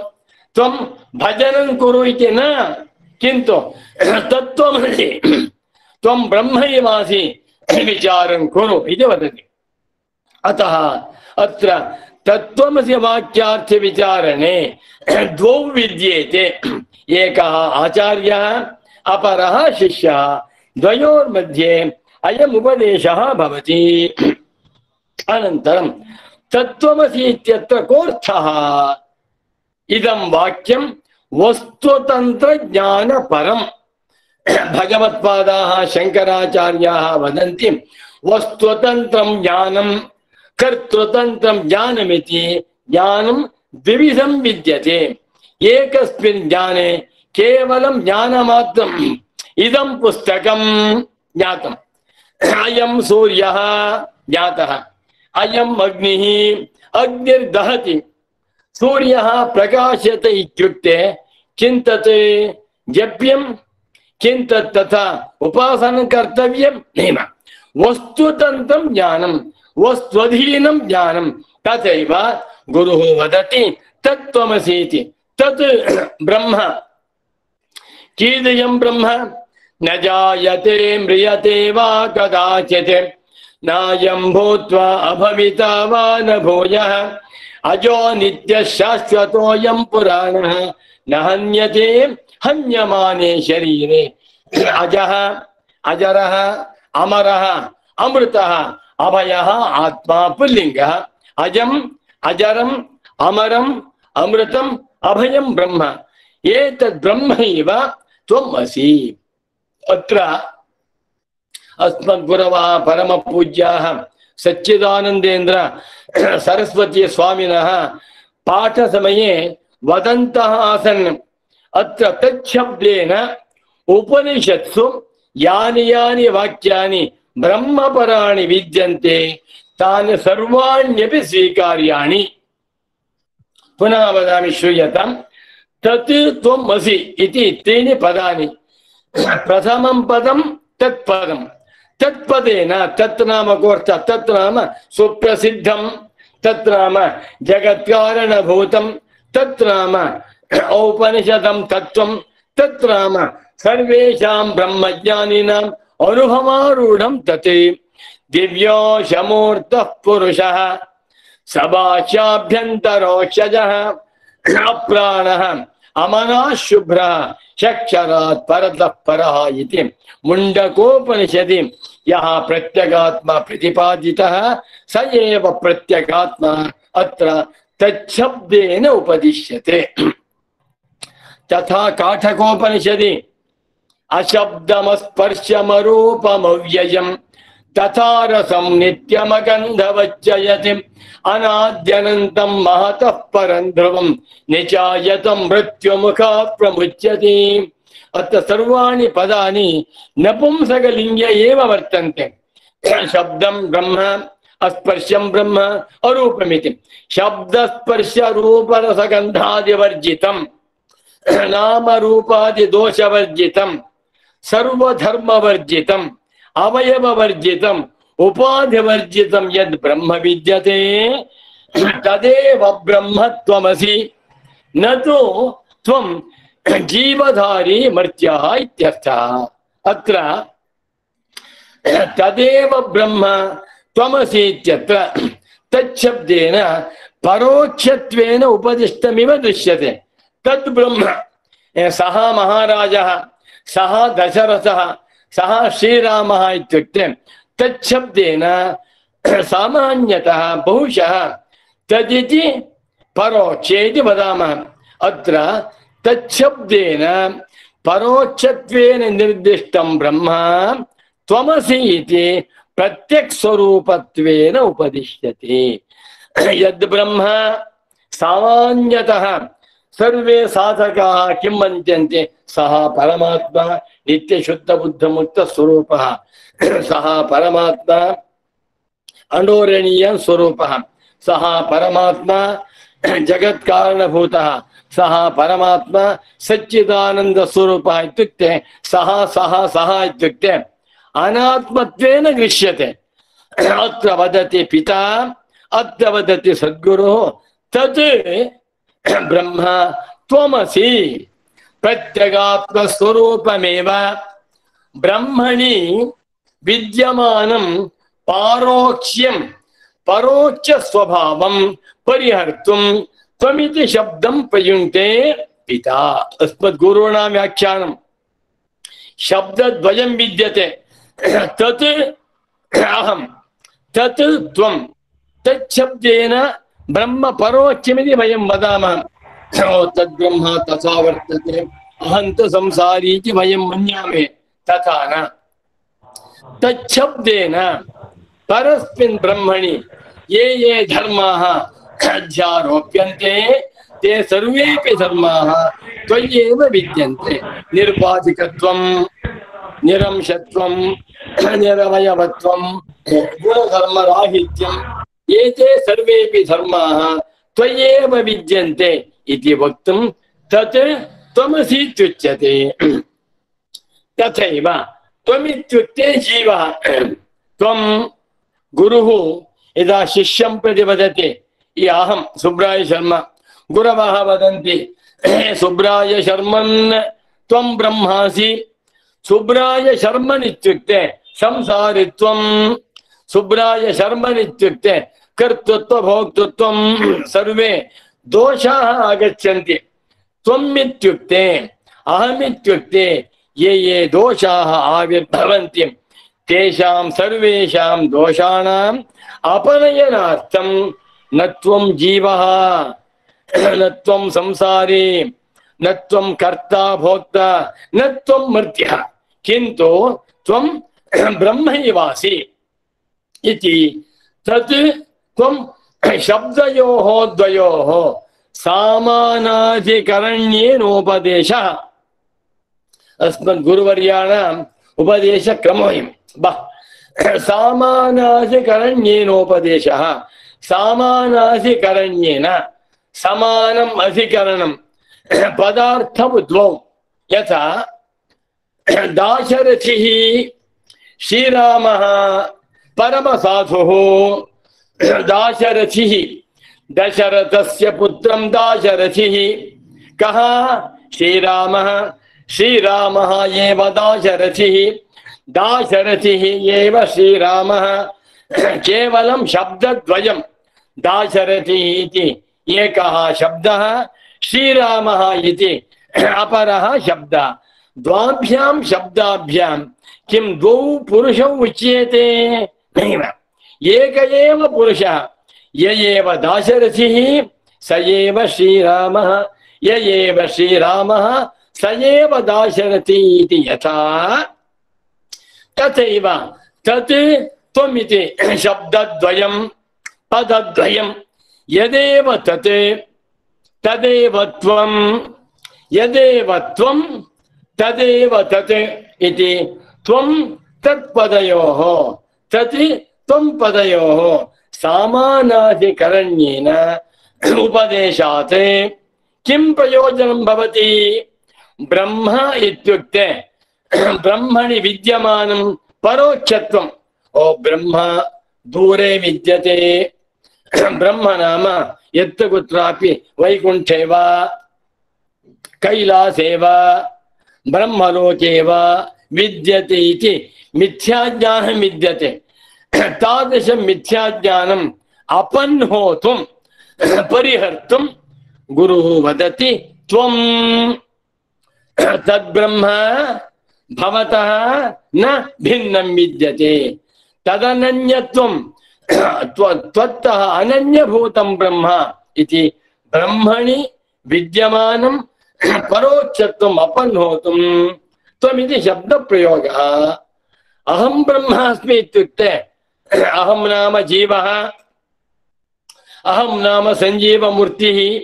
त्वं भजनं कुरु इति न, किन्तु तत्त्वमसि त्वं ब्रह्मैवासि विचारं कुरु इति वदति। अतः अत्र तत्त्वमसि वाक्यार्थ विचारणे द्वौ विद्येते, एकः आचार्यः अपरः शिष्यः, द्वयोर्मध्ये अयम् उपदेशः भवति। अनन्तरं तत्त्वमसि इत्यत्र कोऽर्थः? इदं वाक्यं वस्तुतन्त्रज्ञानपरम्। भगवत्पादाः शङ्कराचार्याः वदन्ति वस्तुतन्त्रं ज्ञानं कर्तृतन्त्रं ज्ञानमिति। ज्ञानं द्विविधं विद्यते। एकस्मिन् ज्ञाने केवलं ज्ञानमात्रम्। इदं पुस्तकं ज्ञातम्, अयं सूर्यः ज्ञातः, अयम् अग्निः अग्निर्दहति, सूर्यः प्रकाशते इत्युक्ते चिन्तते जप्यं किं तत् तथा उपासनं कर्तव्यं नैव। वस्तुतन्त्रं ज्ञानं वस्त्वधीनं ज्ञानं तथैव गुरुः वदति तत्त्वमसि इति। तत् ब्रह्म कीदृशं ब्रह्म न जायते म्रियते वा कदाचित् नायं भूत्वा अभविता वा न भूयः अजो नित्यः शाश्वतोऽयं पुराणः न हन्यते हन्यमाने शरीरे अजः अजरः अमरः अमृतः अभयः आत्मा पुल्लिङ्गः अजम् अजरम् अमरम् अमृतम् अभयं ब्रह्म एतद् ब्रह्मैव त्वम् असि। अत्र अस्मद्गुरवः परमपूज्याः सच्चिदानन्देन्द्र सरस्वती स्वामिनः पाठसमये वदन्तः आसन् अत्र तच्छब्देन उपनिषत्सु यानि यानि वाक्यानि ब्रह्मपराणि विद्यन्ते तानि सर्वाण्यपि स्वीकार्याणि। पुनः वदामि श्रूयताम्। तत् त्वम् असि इति त्रीणि पदानि। प्रथमं पदं तत्पदं तत्पदेन तत् नाम कोऽर्थः तत् नाम सुप्रसिद्धं तत् नाम जगत्कारणभूतं तत् नाम औपनिषदं तत्त्वं तत् नाम सर्वेषां ब्रह्मज्ञानिनाम् अनुभवारूढं तत् दिव्यो शमूर्तः पुरुषः सभाष्याभ्यन्तरोक्षजः अप्राणः अमनः शुभ्रः चक्षरात् परतः परः इति मुण्डकोपनिषदि यः प्रत्यगात्मा प्रतिपादितः स एव प्रत्यगात्मा अत्र तच्छब्देन उपदिश्यते। तथा काठकोपनिषदि अशब्दमस्पर्शमरूपमव्ययम् तथा रसं नित्यमगन्धवच्चयति अनाद्यनन्तं महतः परं ध्रुवं निचायतं मृत्युमुखात् प्रमुच्यते। अत्र सर्वाणि पदानि नपुंसकलिङ्गे एव वर्तन्ते। शब्दं ब्रह्म अस्पर्शं ब्रह्म अरूपमिति। शब्दस्पर्शरूपरसगन्धादिवर्जितं नामरूपादिदोषवर्जितं सर्वधर्मवर्जितं अवयववर्जितम् उपाधिवर्जितं यद् ब्रह्म विद्यते तदेव ब्रह्म त्वमसि न तु त्वं जीवधारी मर्त्यः इत्यर्थः। अत्र तदेव ब्रह्म त्वमसि इत्यत्र तच्छब्देन परोक्षत्वेन उपदिष्टमिव दृश्यते। तद् ब्रह्म सः महाराजः सः दशरथः सः श्रीरामः इत्युक्ते तच्छब्देन सामान्यतः बहुशः तदिति परोक्षे इति वदामः। अत्र तच्छब्देन परोक्षत्वेन निर्दिष्टं ब्रह्म त्वमसि इति प्रत्यक्स्वरूपत्वेन उपदिश्यते। यद् ब्रह्म सामान्यतः सर्वे साधकाः किं मन्यन्ते सः परमात्मा नित्यशुद्धबुद्धमुक्तस्वरूपः सः परमात्मा अनोरणीय स्वरूपः सः परमात्मा जगत्कारणभूतः सः परमात्मा सच्चिदानंद स्वरूपः इत्युक्ते सः सः सः इत्युक्ते अनात्मत्वेन गृह्यते। अत्र वदति पिता अत्र वदति सद्गुरुः तत् ब्रह्म त्वमसि प्रत्यगात्मस्वरूपमेव ब्रह्मणि विद्यमानं पारोक्ष्यं परोक्ष स्वभावं परिहर्तुं त्वमिति शब्दं प्रयुङ्क्ते पिता। अस्मद्गुरूणां व्याख्यानं शब्दद्वयं विद्यते तत् अहं तत् त्वं तच्छब्देन ब्रह्म परोक्षमिति वयं वदामः। तद्ब्रह्म तथा वर्तते अहं तु संसारी इति वयं मन्यामहे तथा न। तच्छब्देन परस्मिन् ब्रह्मणि ये ये धर्माः अध्यारोप्यन्ते ते सर्वेपि धर्माः त्वय्येव विद्यन्ते। निर्बाधिकत्वं निरंशत्वं निरवयवत्वं गुणधर्मराहित्यं एते सर्वेपि धर्माः त्वय्येव विद्यन्ते इति वक्तुं तत् त्वमसि इत्युच्यते। तथैव त्वमित्युक्ते जीवः। त्वं गुरुः यदा शिष्यं प्रति वदति, अहं सुब्राय शर्मा, गुरवः वदन्ति सुब्राय शर्मन् त्वं ब्रह्मासि। सुब्राय शर्मन् इत्युक्ते संसारित्वं, सुब्राय शर्मन् इत्युक्ते कर्तृत्व भोक्तृत्वं सर्वे दोषाः आगच्छन्ति। त्वम् इत्युक्ते अहमित्युक्ते ये ये दोषाः आविर्भवन्ति तेषां सर्वेषां दोषाणाम् अपनयनार्थं न त्वं जीवः, न त्वं संसारी, न त्वं कर्ता भोक्ता, न त्वं मर्त्यः, किन्तु त्वं ब्रह्मैवासि इति। तत् त्वं शब्दयोः द्वयोः सामानाधिकरण्येनोपदेशः। अस्मद् गुरुवर्याणाम् उपदेशक्रमोऽयं। सामानाधिकरण्येनोपदेशः। सामानाधिकरण्येन समानम् अधिकरणं पदार्थं द्वौ। यथा दाशरथिः श्रीरामः परमसाधुः। दाशरथिः दशरथस्य पुत्रं दाशरथिः। कः? श्रीरामः। श्रीरामः एव दाशरथिः। दाशरथिः एव श्रीरामः। केवलं शब्दद्वयं। दाशरथिः इति एकः शब्दः, श्रीरामः इति अपरः शब्दः। द्वाभ्यां शब्दाभ्यां किं द्वौ पुरुषौ उच्यते? नैव, एक एव पुरुषः। य एव दाशरथिः स एव श्रीरामः, य एव श्रीरामः स एव दाशरथी इति। यथा तथैव तत् त्वमिति शब्दद्वयं पदद्वयं। यदेव तत् तदेव त्वं, यदेव त्वं तदेव तत् इति। त्वं तत्पदयोः तत् त्वं पदयोः सामानाधिकरण्येन उपदेशात् किं प्रयोजनं भवति? ब्रह्म इत्युक्ते ब्रह्मणि विद्यमानं परोक्षत्वं। ओ ब्रह्म दूरे विद्यते। ब्रह्म नाम यत्र कुत्रापि वैकुण्ठे वा कैलासे वा ब्रह्मलोके वा विद्यते इति मिथ्याज्ञानं विद्यते। तादृशं मिथ्याज्ञानम् अपन्होतुं परिहर्तुं गुरुः वदति त्वं तद्ब्रह्म भवतः न भिन्नं विद्यते। तदनन्यत्वं त्वत्तः अनन्यभूतं ब्रह्म इति। ब्रह्मणि विद्यमानं परोक्षत्वम् अपन्होतुं त्वमिति शब्दप्रयोगः। अहं ब्रह्मास्मि इत्युक्ते अहं नाम जीवः, अहं नाम सञ्जीवमूर्तिः,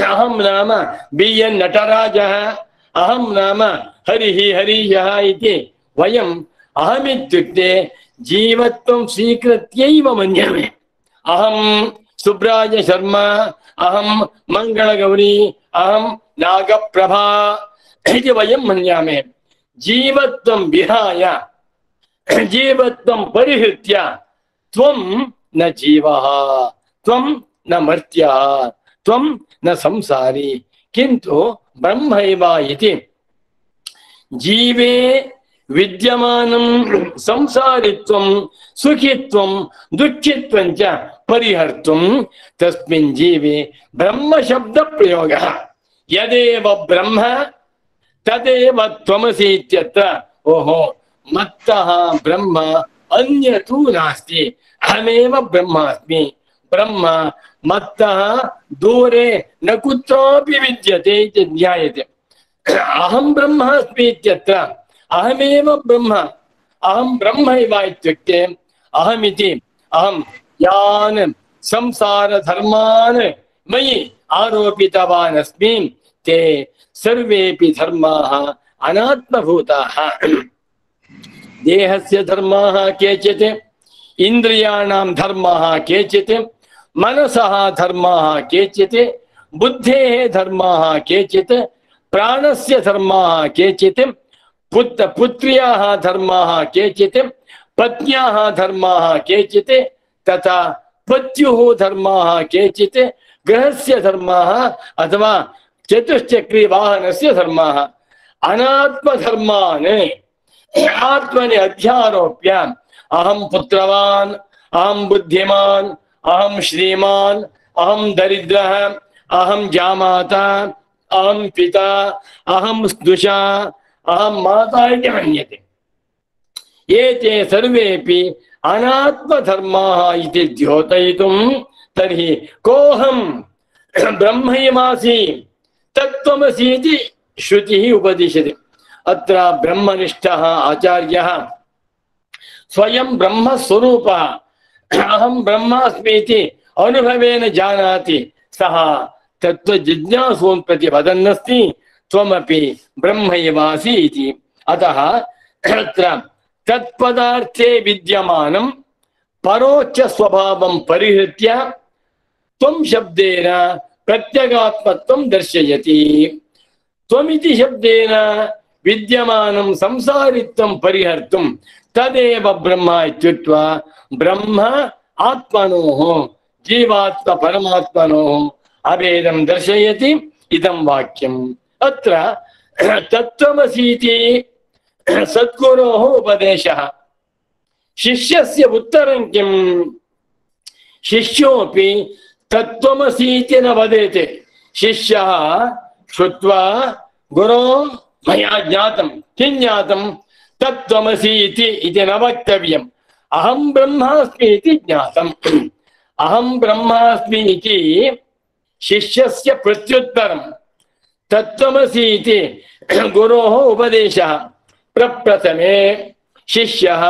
अहं नाम बि एन् नटराजः, अहं नाम हरिः हरीशः इति वयम् अहमित्युक्ते जीवत्वं स्वीकृत्यैव मन्यामे। अहं सुब्राय शर्मा, अहं मङ्गलगौरी, अहं नागप्रभा इति वयं मन्यामे। जीवत्वं विहाय जीवत्वं परिहृत्य त्वं न जीवः, त्वं न मर्त्यः, त्वं न संसारी, किन्तु ब्रह्मैव इति। जीवे विद्यमानं संसारित्वं सुखित्वं दुःखित्वं च परिहर्तुं तस्मिन् जीवे ब्रह्म शब्द प्रयोगः। यदेव ब्रह्म तदेव त्वमसि इत्यत्र ओहो मत्तः ब्रह्म अन्यतु नास्ति, अहमेव ब्रह्मास्मि। ब्रह्म मत्तः दूरे न कुत्रापि विद्यते इति ज्ञायते। अहं ब्रह्मास्मि इत्यत्र अहमेव ब्रह्म, अहं ब्रह्मैव इत्युक्ते अहमिति अहं यान् संसारधर्मान् मयि आरोपितवान् अस्मि ते सर्वेपि धर्माः अनात्मभूताः। देहस्य धर्माः केचित्, इन्द्रियाणां धर्माः केचित्, मनसः धर्माः केचित्, बुद्धेः धर्माः केचित्, प्राणस्य धर्माः केचित्, पुत्र पुत्र्याः धर्माः केचित्, पत्न्याः धर्माः केचित्, तथा पत्युः धर्माः केचित्, गृहस्य धर्माः अथवा चतुश्चक्री वाहनस्य धर्माः। अनात्मधर्मान् आत्मनि अध्यारोप्य अहं पुत्रवान्, अहं बुद्धिमान्, अहं श्रीमान्, अहं दरिद्रः, अहं जामाता, अहं पिता, अहं स्नुषा, अहं माता इति मन्यते। एते सर्वेपि अनात्मधर्माः इति द्योतयितुं तर्हि कोऽहं ब्रह्मैवासि तत्त्वमसि इति श्रुतिः उपदिशति। अत्र ब्रह्मनिष्ठः आचार्यः स्वयं ब्रह्मस्वरूपः अहं ब्रह्मास्मि इति अनुभवेन जानाति, सः तत्त्वजिज्ञासून् प्रति वदन्नस्ति त्वमपि ब्रह्मैवासि इति। अतः अत्र तत्पदार्थे विद्यमानं परोच्च स्वभावं परिहृत्य त्वं शब्देन प्रत्यगात्मत्वं दर्शयति। त्वमिति शब्देन विद्यमानं संसारित्वं परिहर्तुं तदेव ब्रह्म इत्युक्त्वा ब्रह्म आत्मनोः जीवात्म परमात्मनोः अभेदं दर्शयति इदं वाक्यम्। अत्र तत्त्वमसीति सद्गुरोः उपदेशः। शिष्यस्य उत्तरं किम्? शिष्योऽपि तत्त्वमसीति न वदेत्। शिष्यः श्रुत्वा गुरो मया ज्ञातं, किं ज्ञातं? तत्त्वमसि इति न वक्तव्यम्। अहं ब्रह्मास्मि इति ज्ञातम्। अहं ब्रह्मास्मि इति शिष्यस्य प्रत्युत्तरं। तत्त्वमसि इति गुरोः उपदेशः। प्रप्रथमे शिष्यः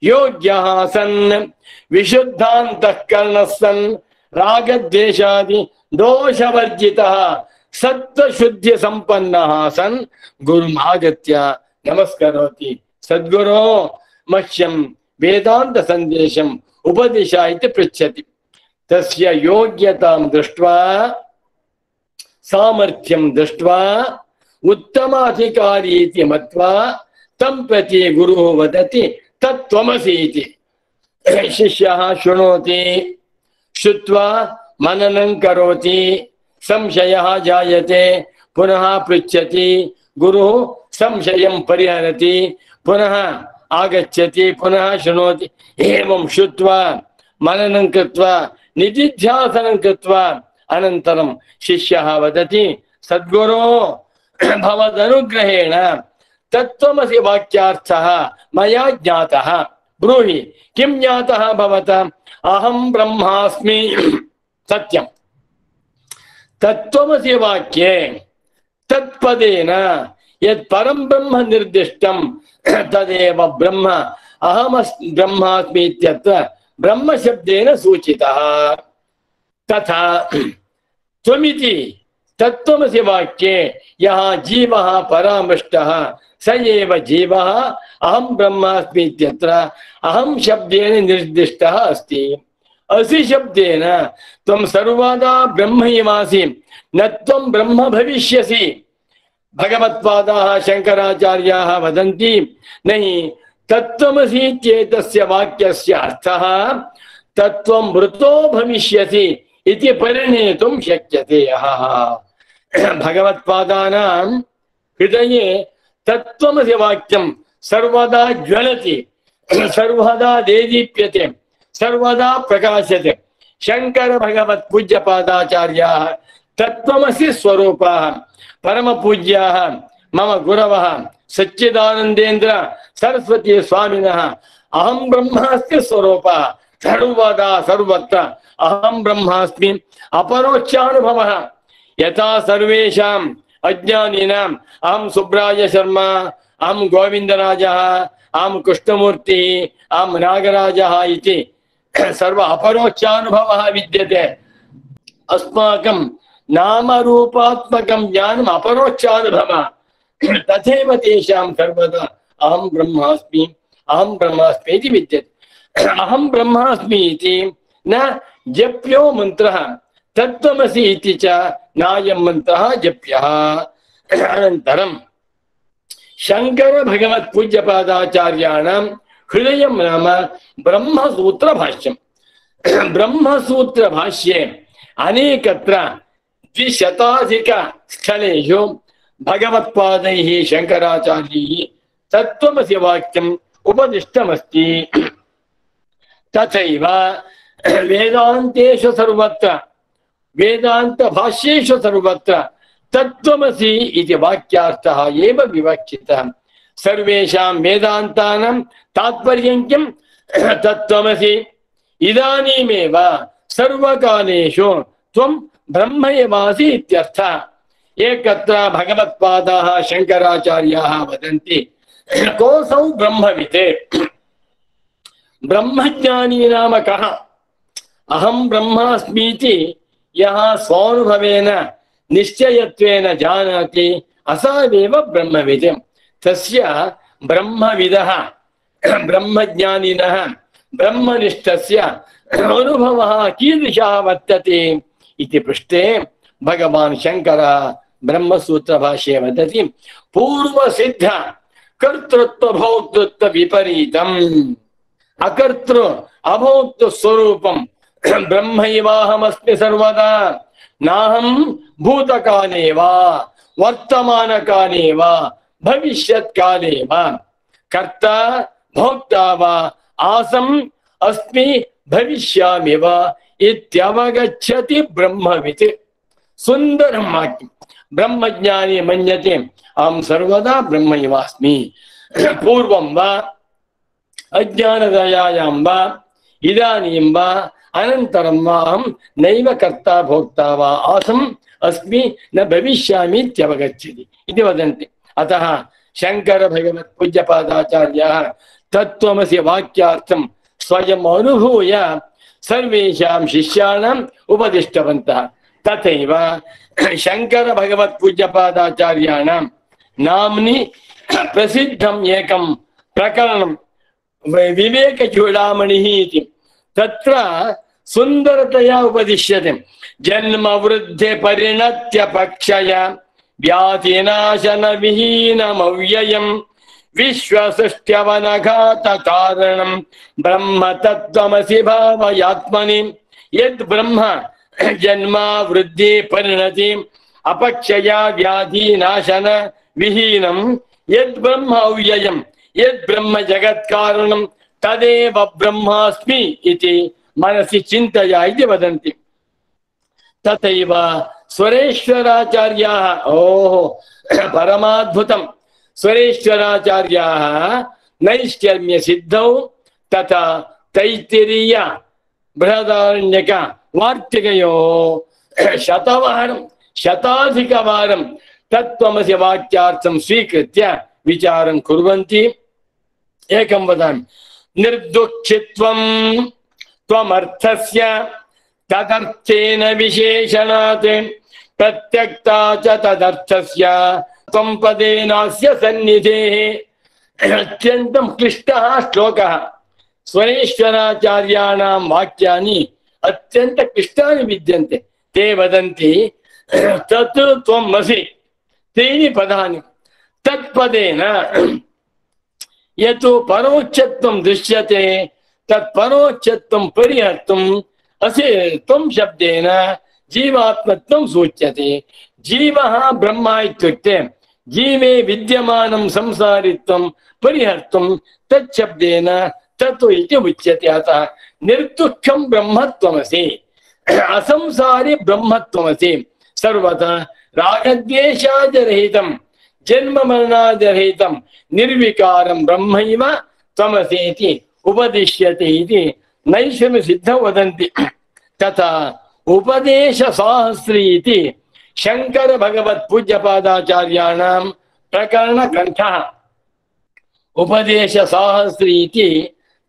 योग्यः सन् विशुद्धान्तःकरणः सन् रागद्वेषादि दोषवर्जितः सत्त्वशुद्धि संपन्नः सन् गुरुम् आगत्य नमस्करोति। सद्गुरो मह्यं वेदान्त संदेशम् उपदिश इति पृच्छति। तस्य योग्यतां दृष्ट्वा सामर्थ्यं दृष्ट्वा उत्तमाधिकारी इति मत्वा तं प्रति गुरुः वदति तत्त्वमसि इति। शिष्यः शृणोति, श्रुत्वा मननं करोति, संशयः जायते, पुनः पृच्छति, गुरुः संशयं परिहरति, पुनः आगच्छति, पुनः शृणोति। एवं श्रुत्वा मननं कृत्वा निधिध्यासनं कृत्वा अनन्तरं शिष्यः वदति सद्गुरो भवदनुग्रहेण तत्त्वमसि वाक्यार्थः मया ज्ञातः। ब्रूहि किं ज्ञातः भवता? अहं ब्रह्मास्मि सत्यं। तत्त्वमसि वाक्ये तत्पदेन यत् परं ब्रह्म निर्दिष्टं तदेव ब्रह्म अहमस्मि ब्रह्मास्मि इत्यत्र ब्रह्म शब्देन सूचितः। तथा त्वमिति तत्त्वमसि वाक्ये यः जीवः परामृष्टः स एव जीवः अहं ब्रह्मास्मि इत्यत्र अहं शब्देन निर्दिष्टः अस्ति। असि शब्देन त्वं सर्वदा ब्रह्मैवासि न त्वं ब्रह्म भविष्यसि। भगवत्पादाः शंकराचार्याः वदन्ति नहि तत्त्वमसि इत्येतस्य वाक्यस्य अर्थः तत्त्वं मृतो भविष्यसि इति परिणेतुं शक्यते। भगवत्पादानां हृदये तत्त्वमसि वाक्यं सर्वदा ज्वलति, सर्वदा देदीप्यते, सर्वदा प्रकाशते। शंकर भगवत् पूज्यपादाचार्याः तत्त्वमसि स्वरूपाः परम पूज्याः मम गुरवः सच्चिदानंदेन्द्र सरस्वती स्वामिनः अहं ब्रह्मास्मि स्वरूपः सर्वदा सर्वत्र अहं ब्रह्मास्मि अपरोक्षानुभवः। यथा सर्वेषाम् अज्ञानिनाम् अहं सुब्राय शर्मा, अहं गोविंदराजः, अहं कृष्णमूर्तिः, अहं नागराजः इति सर्व अपरोक्षानुभवः विद्यते। अस्माकं नामरूपात्मकं ज्ञानम् अपरोक्षानुभवः। तथैव तेषां सर्वदा अहं ब्रह्मास्मि अहं ब्रह्मास्मि इति विद्यते। अहं ब्रह्मास्मि इति न जप्यो मन्त्रः, तत्त्वमसि इति च नायं मन्त्रः जप्यः। अनन्तरं शंकर भगवत् पूज्यपादाचार्याणां हृदयं नाम ब्रह्मसूत्रभाष्यम्। ब्रह्मसूत्रभाष्ये अनेकत्र द्विशताधिक स्थलेषु भगवत्पादैः शंकराचार्यैः तत्त्वमसि वाक्यम् उपदिष्टमस्ति। तथैव वेदान्तेषु सर्वत्र वेदान्तभाष्येषु सर्वत्र तत्त्वमसि इति वाक्यार्थः एव विवक्षितः। सर्वेषां वेदान्तानां तात्पर्यं किं? तत्त्वमसि। इदानीमेव सर्वकालेषु त्वं ब्रह्म एवासि इत्यर्थः। एकत्र भगवत्पादाः शंकराचार्याः वदन्ति कोऽसौ ब्रह्मवित्? ब्रह्मज्ञानी नाम कः? अहं ब्रह्मास्मीति यः स्वानुभवेन निश्चयत्वेन जानाति असावेव ब्रह्मवित्। तस्य ब्रह्मविदः ब्रह्मज्ञानिनः ब्रह्मनिष्ठस्य अनुभवः कीदृशः वर्तते इति पृष्टे भगवान् शंकरः ब्रह्मसूत्रभाष्ये वदति पूर्वसिद्ध कर्तृत्व भोक्तृत्व विपरीतम् अकर्तृ अभोक्तृ स्वरूपं ब्रह्मैवाहमस्मि सर्वदा नाहं भूतकाले वा वर्तमानकाले वा भविष्यत्काले वा कर्ता भोक्ता वा आसम् अस्मि भविष्यामि वा इत्यवगच्छति ब्रह्मवित्। सुन्दरं वाक्यं। ब्रह्मज्ञानी मन्यते अहं सर्वदा ब्रह्मैवास्मि। पूर्वं वा अज्ञानदयायां वा इदानीं वा अनन्तरं वा अहं नैव कर्ता भोक्ता वा आसम् अस्मि न भविष्यामि इत्यवगच्छति इति वदन्ति। अतः शंकर भगवत् पूज्यपादाचार्याः तत्त्वमसि वाक्यार्थं स्वयम् अनुभूय सर्वेषां शिष्याणाम् उपदिष्टवन्तः। तथैव शंकर भगवत् पूज्यपादाचार्याणां नाम्नि प्रसिद्धम् एकं प्रकरणं विवेकचूडामणिः इति। तत्र सुन्दरतया उपदिश्यते जन्म वृद्धि परिणत्य पक्षय व्याधिनाशन विहीनमव्ययम् विश्वसृष्ट्यवनघात कारणं ब्रह्म तत्त्वमसि भावयात्मनि। यद् ब्रह्म जन्म वृद्धि परिणति अपक्षया व्याधिनाशन विहीनं यद् ब्रह्म अव्ययम् यद् ब्रह्म जगत्कारणं तदेव ब्रह्मास्मि इति मनसि चिन्तया इति वदन्ति। तथैव स्वरेश्वराचार्याः ओह परमाद्भुतं स्वरेश्वराचार्याः नैष्कर्म्य सिद्धौ तथा तैत्तिरीय बृहदारण्यक वार्तिकयोः शतवारं शताधिकवारं तत्त्वमसि वाक्यार्थं स्वीकृत्य विचारं कुर्वन्ति। एकं वदामि निर्दुःखित्वं त्वमर्थस्य तदर्थेन विशेषणात् प्रत्यक्ता च तदर्थस्य त्वं पदेनास्य सन्निधेः। अत्यन्तं क्लिष्टः श्लोकः। स्वरेश्वराचार्याणां वाक्यानि अत्यन्त क्लिष्टानि विद्यन्ते। ते वदन्ति तत् त्वम् असि त्रीणि पदानि तत्पदेन यत् परोक्षत्वं दृश्यते तत् परोक्षत्वं परिहर्तुम् असि त्वं शब्देन जीवात्मत्वं सूच्यते। जीवः ब्रह्म इत्युक्ते जीवे विद्यमानं संसारित्वं परिहर्तुं तच्छब्देन तत् इति उच्यते। अतः निर्दुःखं ब्रह्मत्वमसि असंसारि ब्रह्मत्वमसि सर्वथा रागद्वेषादिरहितं जन्म मरणादिरहितं निर्विकारं ब्रह्मैव त्वमसि इति उपदिश्यते इति नैषधसिद्धौ वदन्ति। तथा उपदेशसाहस्री इति शंकर भगवत् पूज्यपादाचार्याणां प्रकरणग्रन्थः। उपदेशसाहस्री इति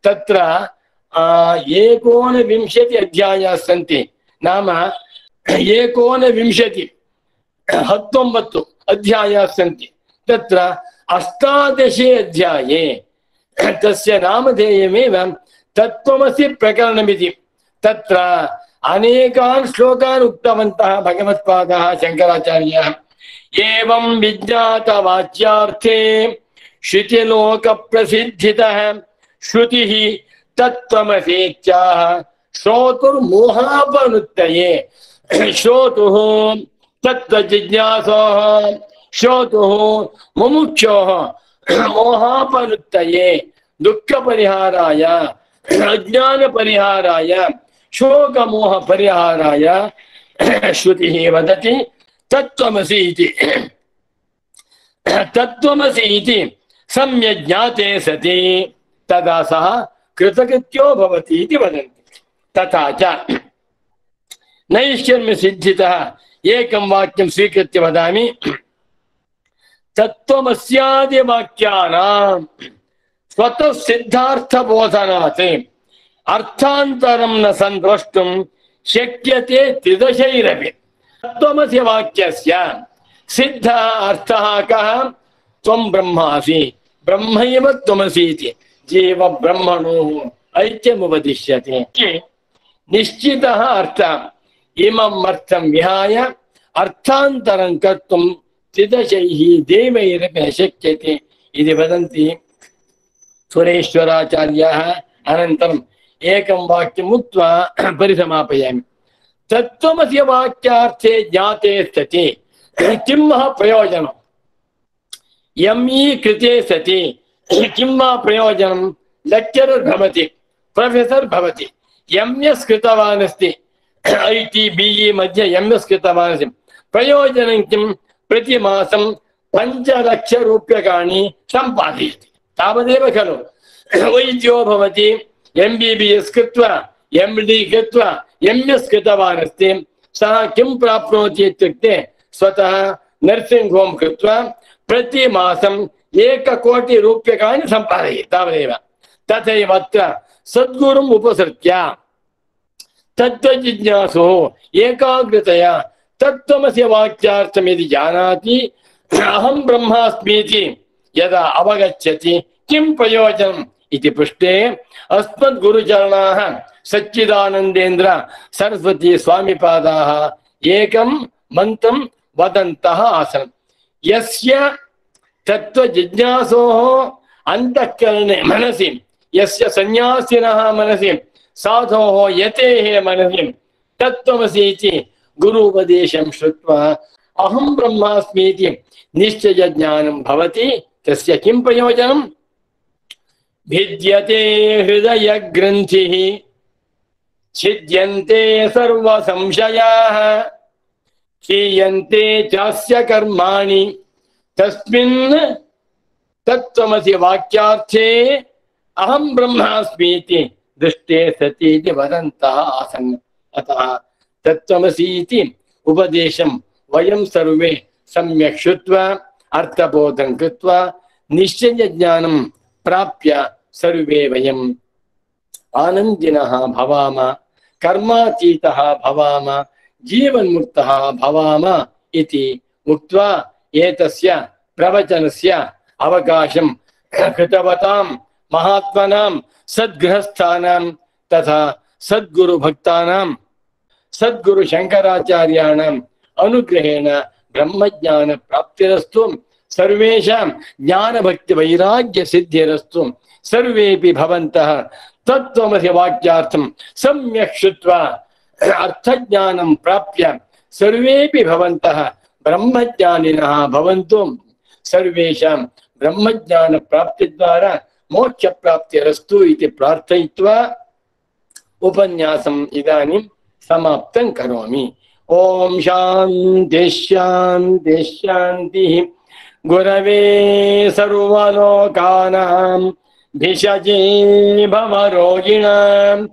तत्र एकोनविंशति अध्यायाः सन्ति। नाम एकोनविंशति हत्तोम्बत्तु अध्यायाः सन्ति। तत्र अष्टादशे अध्याये तस्य नामधेयमेव तत्त्वमसि प्रकरणमिति। तत्र अनेकान् श्लोकान् उक्तवन्तः भगवत्पादाः शंकराचार्याः। एवं विज्ञातवाच्यार्थे श्रुतिलोकप्रसिद्धितः श्रुतिः तत्त्वमसीत्याह श्रोतुर्मोहापनुत्तये श्रोतुः तत्त्वजिज्ञासोः श्रोतुः मुमुक्षोः मोहापनुत्तये दुःखपरिहाराय अज्ञानपरिहाराय शोकमोहपरिहाराय श्रुतिः वदति तत्त्वमसि इति। तत्त्वमसि इति सम्यक् ज्ञाते सति तदा सः कृतकृत्यो भवति इति वदन्ति। तथा च नैष्कर्म्यसिद्धितः एकं वाक्यं स्वीकृत्य वदामि। तत्त्वमस्यादिवाक्यानां स्वतः सिद्धार्थबोधनात् अर्थान्तरं न सन्द्रष्टुं शक्यते त्रिदशैरपि। तत्त्वमसि वाक्यस्य सिद्ध अर्थः कः? त्वं ब्रह्मासि ब्रह्मैव त्वमसि इति जीव ब्रह्मणोः ऐक्यमुपदिश्यते। निश्चितः अर्थः इमम् अर्थं विहाय अर्थान्तरं कर्तुं त्रिदशैः देवैरपि न शक्यते इति वदन्ति सुरेश्वराचार्याः। अनन्तरम् एकं वाक्यम् उक्त्वा परिसमापयामि। तत्त्वमस्य वाक्यार्थे ज्ञाते सति किं वा प्रयोजनं? यमी कृते सति किं वा प्रयोजनं? लेक्चरर् भवति, प्रोफेसर् भवति, एम् एस् कृतवान् अस्ति, ऐ टि बि इ मध्ये एम् एस् कृतवान् अस्ति, प्रयोजनं किं? प्रतिमासं पञ्चलक्षरूप्यकाणि सम्पादयति, तावदेव खलु। वैद्यो भवति, एम् बि बि एस् कृत्वा एम् डि कृत्वा एम् एस् कृतवान् अस्ति, सः किं प्राप्नोति इत्युक्ते स्वतः नर्सिंग् होम् कृत्वा प्रतिमासम् एककोटिरूप्यकाणि सम्पादयति, तावदेव। तथैव अत्र सद्गुरुम् उपसृत्य तत्त्वजिज्ञासुः एकाग्रतया तत्त्वमस्य वाक्यार्थं यदि जानाति अहं ब्रह्मास्मीति यदा अवगच्छति किं प्रयोजनम् इति पृष्टे अस्मद्गुरुचरणाः सच्चिदानन्देन्द्र सरस्वती स्वामिपादाः एकं मन्त्रं वदन्तः आसन्। यस्य तत्त्वजिज्ञासोः अन्तःकरणे मनसि, यस्य सन्न्यासिनः मनसि, साधोः यतेः मनसि तत्त्वमसि इति गुरुपदेशं श्रुत्वा अहं ब्रह्मास्मि इति निश्चयज्ञानं भवति। तस्य किं प्रयोजनं? भिद्यते हृदयग्रन्थिः छिद्यन्ते सर्वसंशयाः क्षीयन्ते चास्य कर्माणि तस्मिन् तत्त्वमसि वाक्यार्थे अहं ब्रह्मास्मि इति दृष्टे सति इति वदन्तः आसन्। अतः तत्त्वमसि इति उपदेशं वयं सर्वे सम्यक् श्रुत्वा अर्थबोधं कृत्वा निश्चयज्ञानं प्राप्य सर्वे वयम् आनन्दिनः भवाम, कर्मातीतः भवाम, जीवन्मुक्तः भवाम इति उक्त्वा एतस्य प्रवचनस्य अवकाशं कृतवतां महात्मनां सद्गृहस्थानां तथा सद्गुरुभक्तानां सद्गुरुशङ्कराचार्याणाम् अनुग्रहेण ब्रह्मज्ञान प्राप्तिरस्तु, सर्वेषां ज्ञानभक्तिवैराग्यसिद्धिरस्तु। सर्वेपि भवन्तः तत्त्वमसि वाक्यार्थं सम्यक् श्रुत्वा अर्थज्ञानं प्राप्य सर्वेपि भवन्तः ब्रह्मज्ञानिनः भवन्तु। सर्वेषां ब्रह्मज्ञानप्राप्तिद्वारा मोक्षप्राप्तिरस्तु इति प्रार्थयित्वा उपन्यासम् इदानीं समाप्तं करोमि। ओम शांति शांति शांतिः। गुरवे सर्वलोकानां भिषजे भवरोगिणां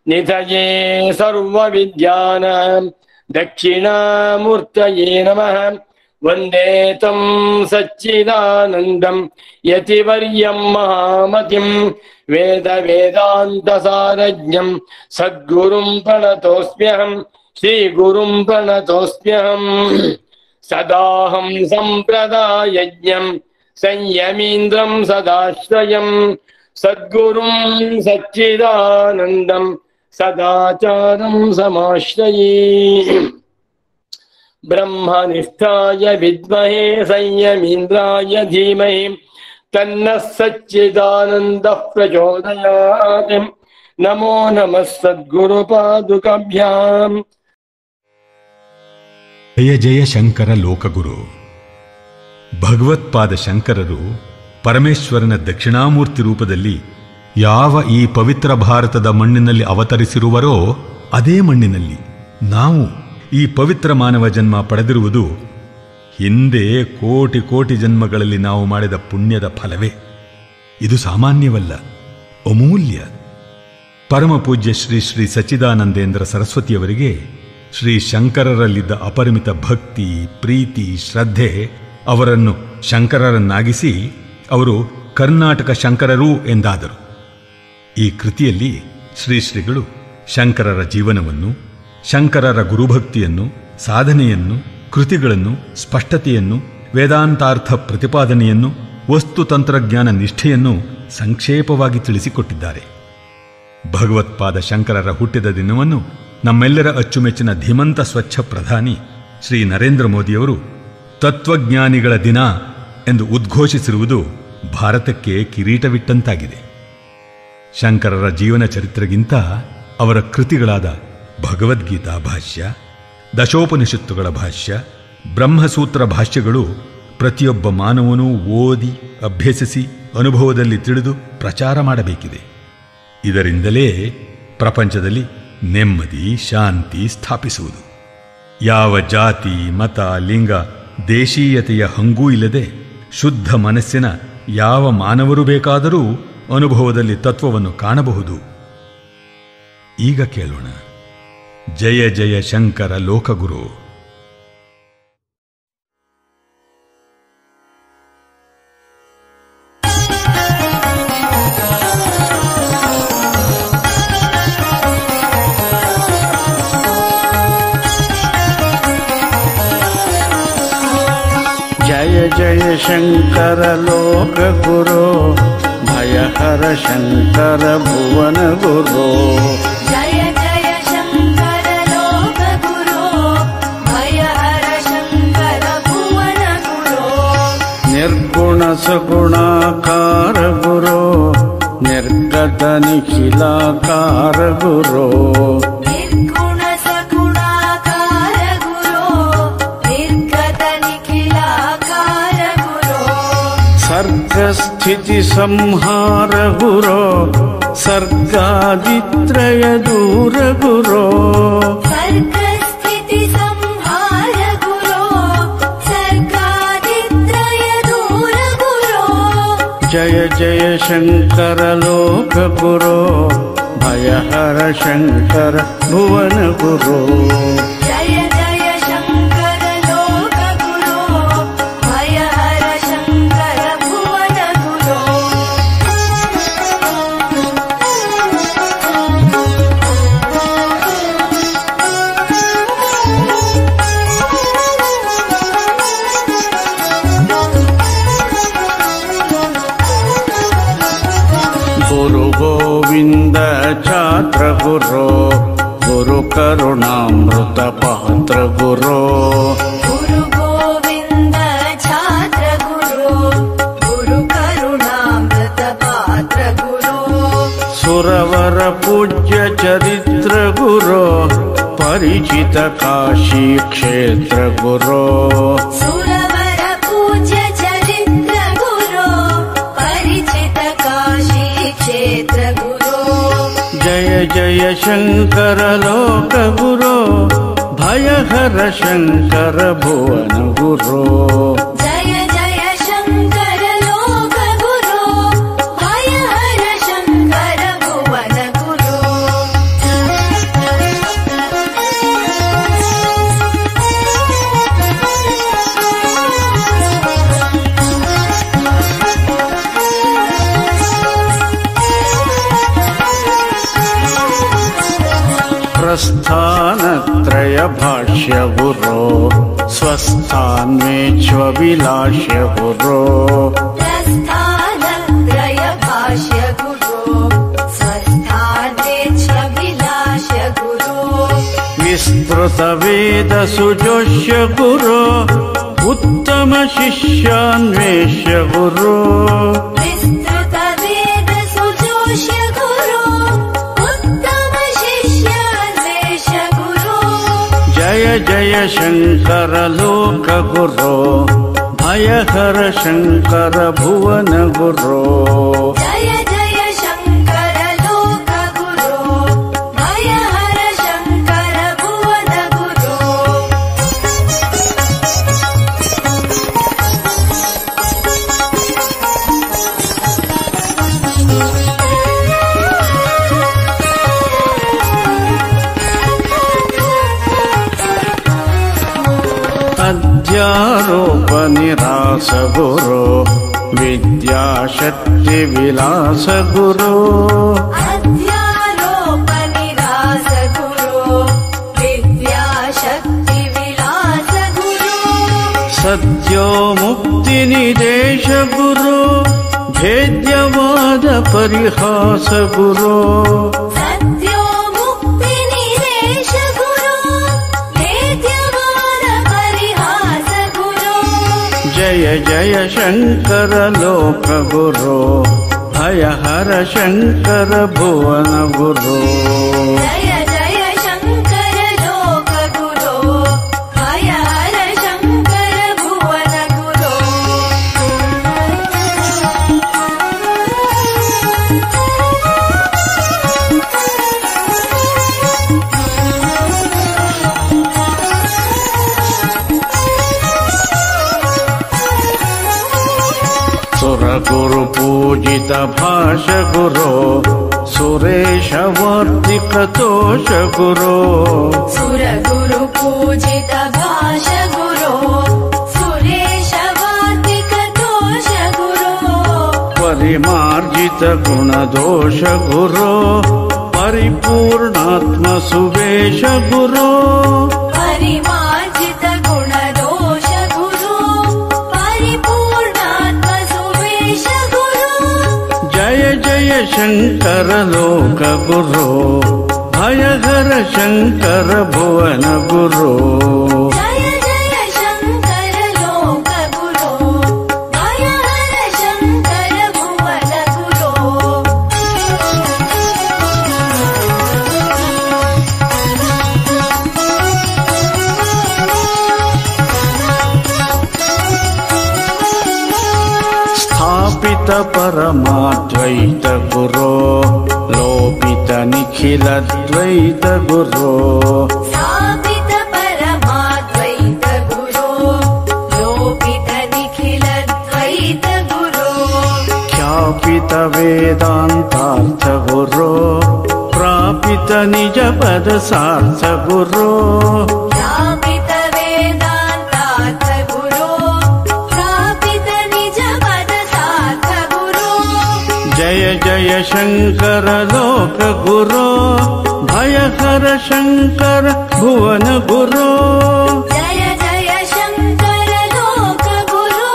निधये सर्वविद्यानां दक्षिणामूर्तये नमः। वन्दे तं सच्चिदानन्दं यतिवर्यं महामतिं वेद वेदान्तसारज्ञं सद्गुरुं प्रणतोऽस्म्यहं। श्रीगुरुं प्रणतोऽस्म्यहं। सदाहं सम्प्रदायज्ञं संयमीन्द्रं सदाश्रयं सद्गुरुं सच्चिदानन्दं सदाचारं समाश्रये। ब्रह्मनिष्ठाय विद्महे संयमीन्द्राय धीमहि तन्नः सच्चिदानन्दः प्रचोदयात्। नमो नमः सद्गुरुपादुकाभ्याम्। ಜಯ ಜಯ ಶಂಕರ ಲೋಕಗುರು. ಭಗವತ್ಪಾದ ಶಂಕರರು ಪರಮೇಶ್ವರನ ದಕ್ಷಿಣಾಮೂರ್ತಿ ರೂಪದಲ್ಲಿ ಯಾವ ಈ ಪವಿತ್ರ ಭಾರತದ ಮಣ್ಣಿನಲ್ಲಿ ಅವತರಿಸಿರುವರೋ ಅದೇ ಮಣ್ಣಿನಲ್ಲಿ ನಾವು ಈ ಪವಿತ್ರ ಮಾನವ ಜನ್ಮ ಪಡೆದಿರುವುದು ಹಿಂದೆ ಕೋಟಿ ಕೋಟಿ ಜನ್ಮಗಳಲ್ಲಿ ನಾವು ಮಾಡಿದ ಪುಣ್ಯದ ಫಲವೇ. ಇದು ಸಾಮಾನ್ಯವಲ್ಲ, ಅಮೂಲ್ಯ. ಪರಮ ಪೂಜ್ಯ ಶ್ರೀ ಶ್ರೀ ಸಚ್ಚಿದಾನಂದೇಂದ್ರ ಸರಸ್ವತಿಯವರಿಗೆ ಶ್ರೀ ಶಂಕರರಲ್ಲಿದ್ದ ಅಪರಿಮಿತ ಭಕ್ತಿ, ಪ್ರೀತಿ, ಶ್ರದ್ಧೆ ಅವರನ್ನು ಶಂಕರರನ್ನಾಗಿಸಿ ಅವರು ಕರ್ನಾಟಕ ಶಂಕರರು ಎಂದಾದರು. ಈ ಕೃತಿಯಲ್ಲಿ ಶ್ರೀ ಶ್ರೀಗಳು ಶಂಕರರ ಜೀವನವನ್ನು, ಶಂಕರರ ಗುರುಭಕ್ತಿಯನ್ನು, ಸಾಧನೆಯನ್ನು, ಕೃತಿಗಳನ್ನು, ಸ್ಪಷ್ಟತೆಯನ್ನು, ವೇದಾಂತಾರ್ಥ ಪ್ರತಿಪಾದನೆಯನ್ನು, ವಸ್ತು ತಂತ್ರಜ್ಞಾನ ನಿಷ್ಠೆಯನ್ನು ಸಂಕ್ಷೇಪವಾಗಿ ತಿಳಿಸಿಕೊಟ್ಟಿದ್ದಾರೆ. ಭಗವತ್ಪಾದ ಶಂಕರರ ಹುಟ್ಟಿದ ದಿನವನ್ನು ನಮ್ಮೆಲ್ಲರ ಅಚ್ಚುಮೆಚ್ಚಿನ ಧೀಮಂತ ಸ್ವಚ್ಛ ಪ್ರಧಾನಿ ಶ್ರೀ ನರೇಂದ್ರ ಮೋದಿಯವರು ತತ್ವಜ್ಞಾನಿಗಳ ದಿನ ಎಂದು ಉದ್ಘೋಷಿಸಿರುವುದು ಭಾರತಕ್ಕೆ ಕಿರೀಟವಿಟ್ಟಂತಾಗಿದೆ. ಶಂಕರರ ಜೀವನ ಚರಿತ್ರೆಗಿಂತ ಅವರ ಕೃತಿಗಳಾದ ಭಗವದ್ಗೀತಾ ಭಾಷ್ಯ, ದಶೋಪನಿಷತ್ತುಗಳ ಭಾಷ್ಯ, ಬ್ರಹ್ಮಸೂತ್ರ ಭಾಷ್ಯಗಳು ಪ್ರತಿಯೊಬ್ಬ ಮಾನವನೂ ಓದಿ, ಅಭ್ಯಸಿಸಿ, ಅನುಭವದಲ್ಲಿ ತಿಳಿದು ಪ್ರಚಾರ ಮಾಡಬೇಕಿದೆ. ಇದರಿಂದಲೇ ಪ್ರಪಂಚದಲ್ಲಿ ನೆಮ್ಮದಿ, ಶಾಂತಿ ಸ್ಥಾಪಿಸುವುದು. ಯಾವ ಜಾತಿ, ಮತ, ಲಿಂಗ, ದೇಶೀಯತೆಯ ಹಂಗೂ ಇಲ್ಲದೆ ಶುದ್ಧ ಮನಸ್ಸಿನ ಯಾವ ಮಾನವರು ಬೇಕಾದರೂ ಅನುಭವದಲ್ಲಿ ತತ್ವವನ್ನು ಕಾಣಬಹುದು. ಈಗ ಕೇಳೋಣ. ಜಯ ಜಯ ಶಂಕರ ಲೋಕಗುರು. जय जय शंकर लोक गुरो, भयहर शंकर भुवन गुरो। जय जय शंकर लोक गुरो, भयहर शंकर भुवन गुरो। निर्गुण सगुणाकार गुरो, निर्गत निखिलाकार गुरो। निर्गुण सगुणाकार गुरो, निर्गत निखिलाकार गुरो। सर्ग स्थिति संहार गुरो, सर्गादित्रय दूर गुरो। सर्ग स्थिति संहार गुरो, सर्गादित्रय दूर गुरो। जय जय शंकर लोक गुरो, भयहर शंकर भुवन गुरो। जय जय शंकर लोक गुरो, भयहर शंकर भुवन गुरो। गुरु गोविंद छात्र गुरो, गुरु करुणामृत पात्र गुरो। गुरु गोविंद छात्र गुरो, गुरु करुणामृत पात्र गुरो। सुरवर पूज्य चरित्र गुरो, परिचित काशी क्षेत्र गुरो। सुरवर पूज्य चरित्र गुरो, परिचित काशी क्षेत्र गुरो। जय जय शंकर लोक गुरो, भयहर शंकर भुवन गुरो। जय जय शंकर लोक गुरो, भयहर शंकर भुवन गुरो। प्रस्थानत्रय भाष्य गुरो, स्वस्थान्मेष्वभिलाष्य गुरो। प्रस्थानत्रय भाष्य गुरो, स्वस्थानेच्छभिलाष गुरो। विस्तृतवेद सुजोष्य गुरो उत्तम शिष्यान्वेष्य गुरो विस्तृतवेद सुजोष्य गुरो उत्तम शिष्यान्वेष्य गुरो जय जय शंकर लोक गुरो भयहर शंकर भुवन गुरो जय जय शंकर लोक गुरो भयहर शंकर भुवन गुरो अध्यारोप निरास गुरो विद्याशक्ति विलास गुरो अध्यारोप निरास गुरो विद्याशक्ति विलास गुरो सद्यो मुक्ति निदेश गुरो भेद्यवाद परिहास गुरो सत्यो मुक्ति निदेश गुरो भेद्यवाद परिहास गुरो जय जय शंकर लोक गुरो भयहर शंकर भुवन गुरो जय जय शंकर लोक गुरो भयहर शंकर भुवन गुरो सुर गुरु पूजित भाष गुरो सुरेश वर्तिक तोष गुरो सुर गुरु पूजित भाष गुरो सुरेश वार्तिक दोष गुरो परिमार्जित गुण दोष गुरो परिपूर्णात्म सुवेश गुरो परिमार्जित गुण दोष गुरो परिपूर्णात्म सुवेश गुरो जय जय शंकर लोक गुरो भयहर शंकर भुवन गुरो जय जय शंकर लोक गुरो भयहर शंकर भुवन गुरो स्थापित परमाद्वैत गुरो लोपित निखिल द्वैत गुरो स्थापित परमाद्वैत गुरो लोपित निखिल द्वैत गुरो ख्यापित वेदांतार्थ गुरो प्रापित निज पद सार्थ गुरो प्रापित वेदांतार्थ गुरो प्रापित निज पद सार्थ गुरो जय जय शंकर लोक गुरो भयहर शंकर भुवन गुरो जय जय शंकर लोक गुरो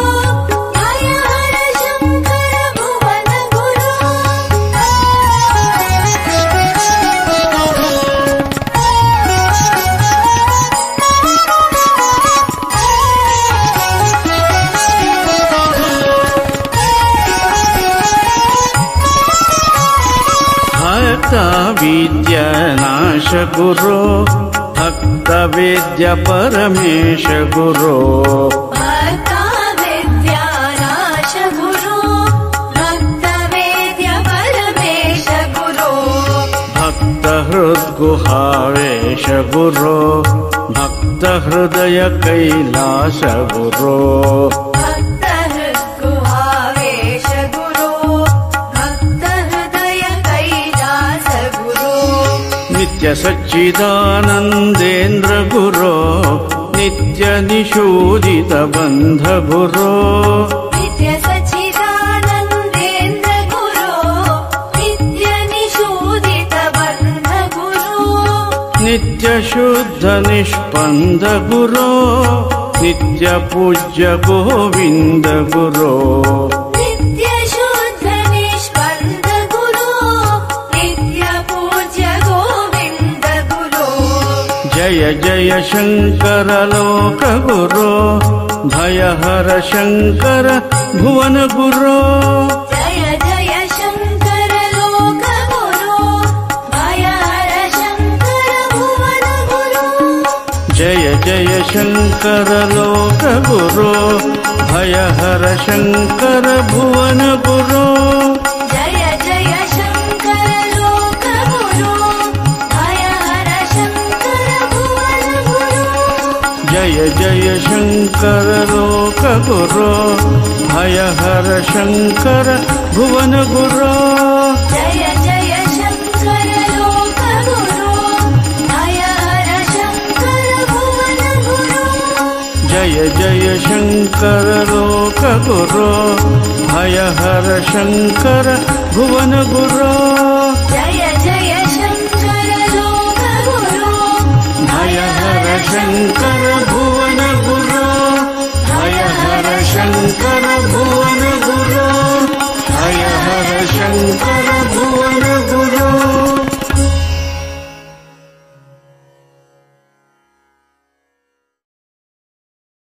भयहर शंकर भुवन गुरो भक्त विद्यानाश गुरो भक्त वेद्य परमेश गुरो भक्ता विद्यानाश गुरो भक्त वेद्य परमेश गुरो भक्त हृद्गुहावेश गुरो भक्त हृदय कैलास गुरो भक्त हृद्गुहावेश गुरो भक्त हृदय कैलास गुरो नित्य सच्चिदानंदेन्द्र गुरो नित्य निषूदित बंध गुरो नित्य सच्चिदानंदेन्द्र गुरो नित्य निषूदित बंध गुरो नित्य शुद्ध निष्पन्द गुरो नित्य पूज्य गोविंद गुरो नित्य शुद्ध निष्पन्द गुरो नित्य पूज्य गोविंद गुरो जय जय जय शङ्कर लोकगुरो भयहर शङ्कर भुवन गुरो जय जय शङ्कर लोकगुरो भयहर शङ्कर भुवन गुरो जय जय शङ्कर लोकगुरो भयहर शङ्कर भुवन गुरो जय जय शङ्कर लोकगुरो भयहर शङ्कर भुवन गुरो जय जय शङ्कर लोकगुरो भयहर शङ्कर भुवन गुरो जय जय शङ्कर लोकगुरो भयहर शङ्कर भुवन गुरो जय जय शङ्कर लोकगुरो भयहर शङ्कर भुवन गुरो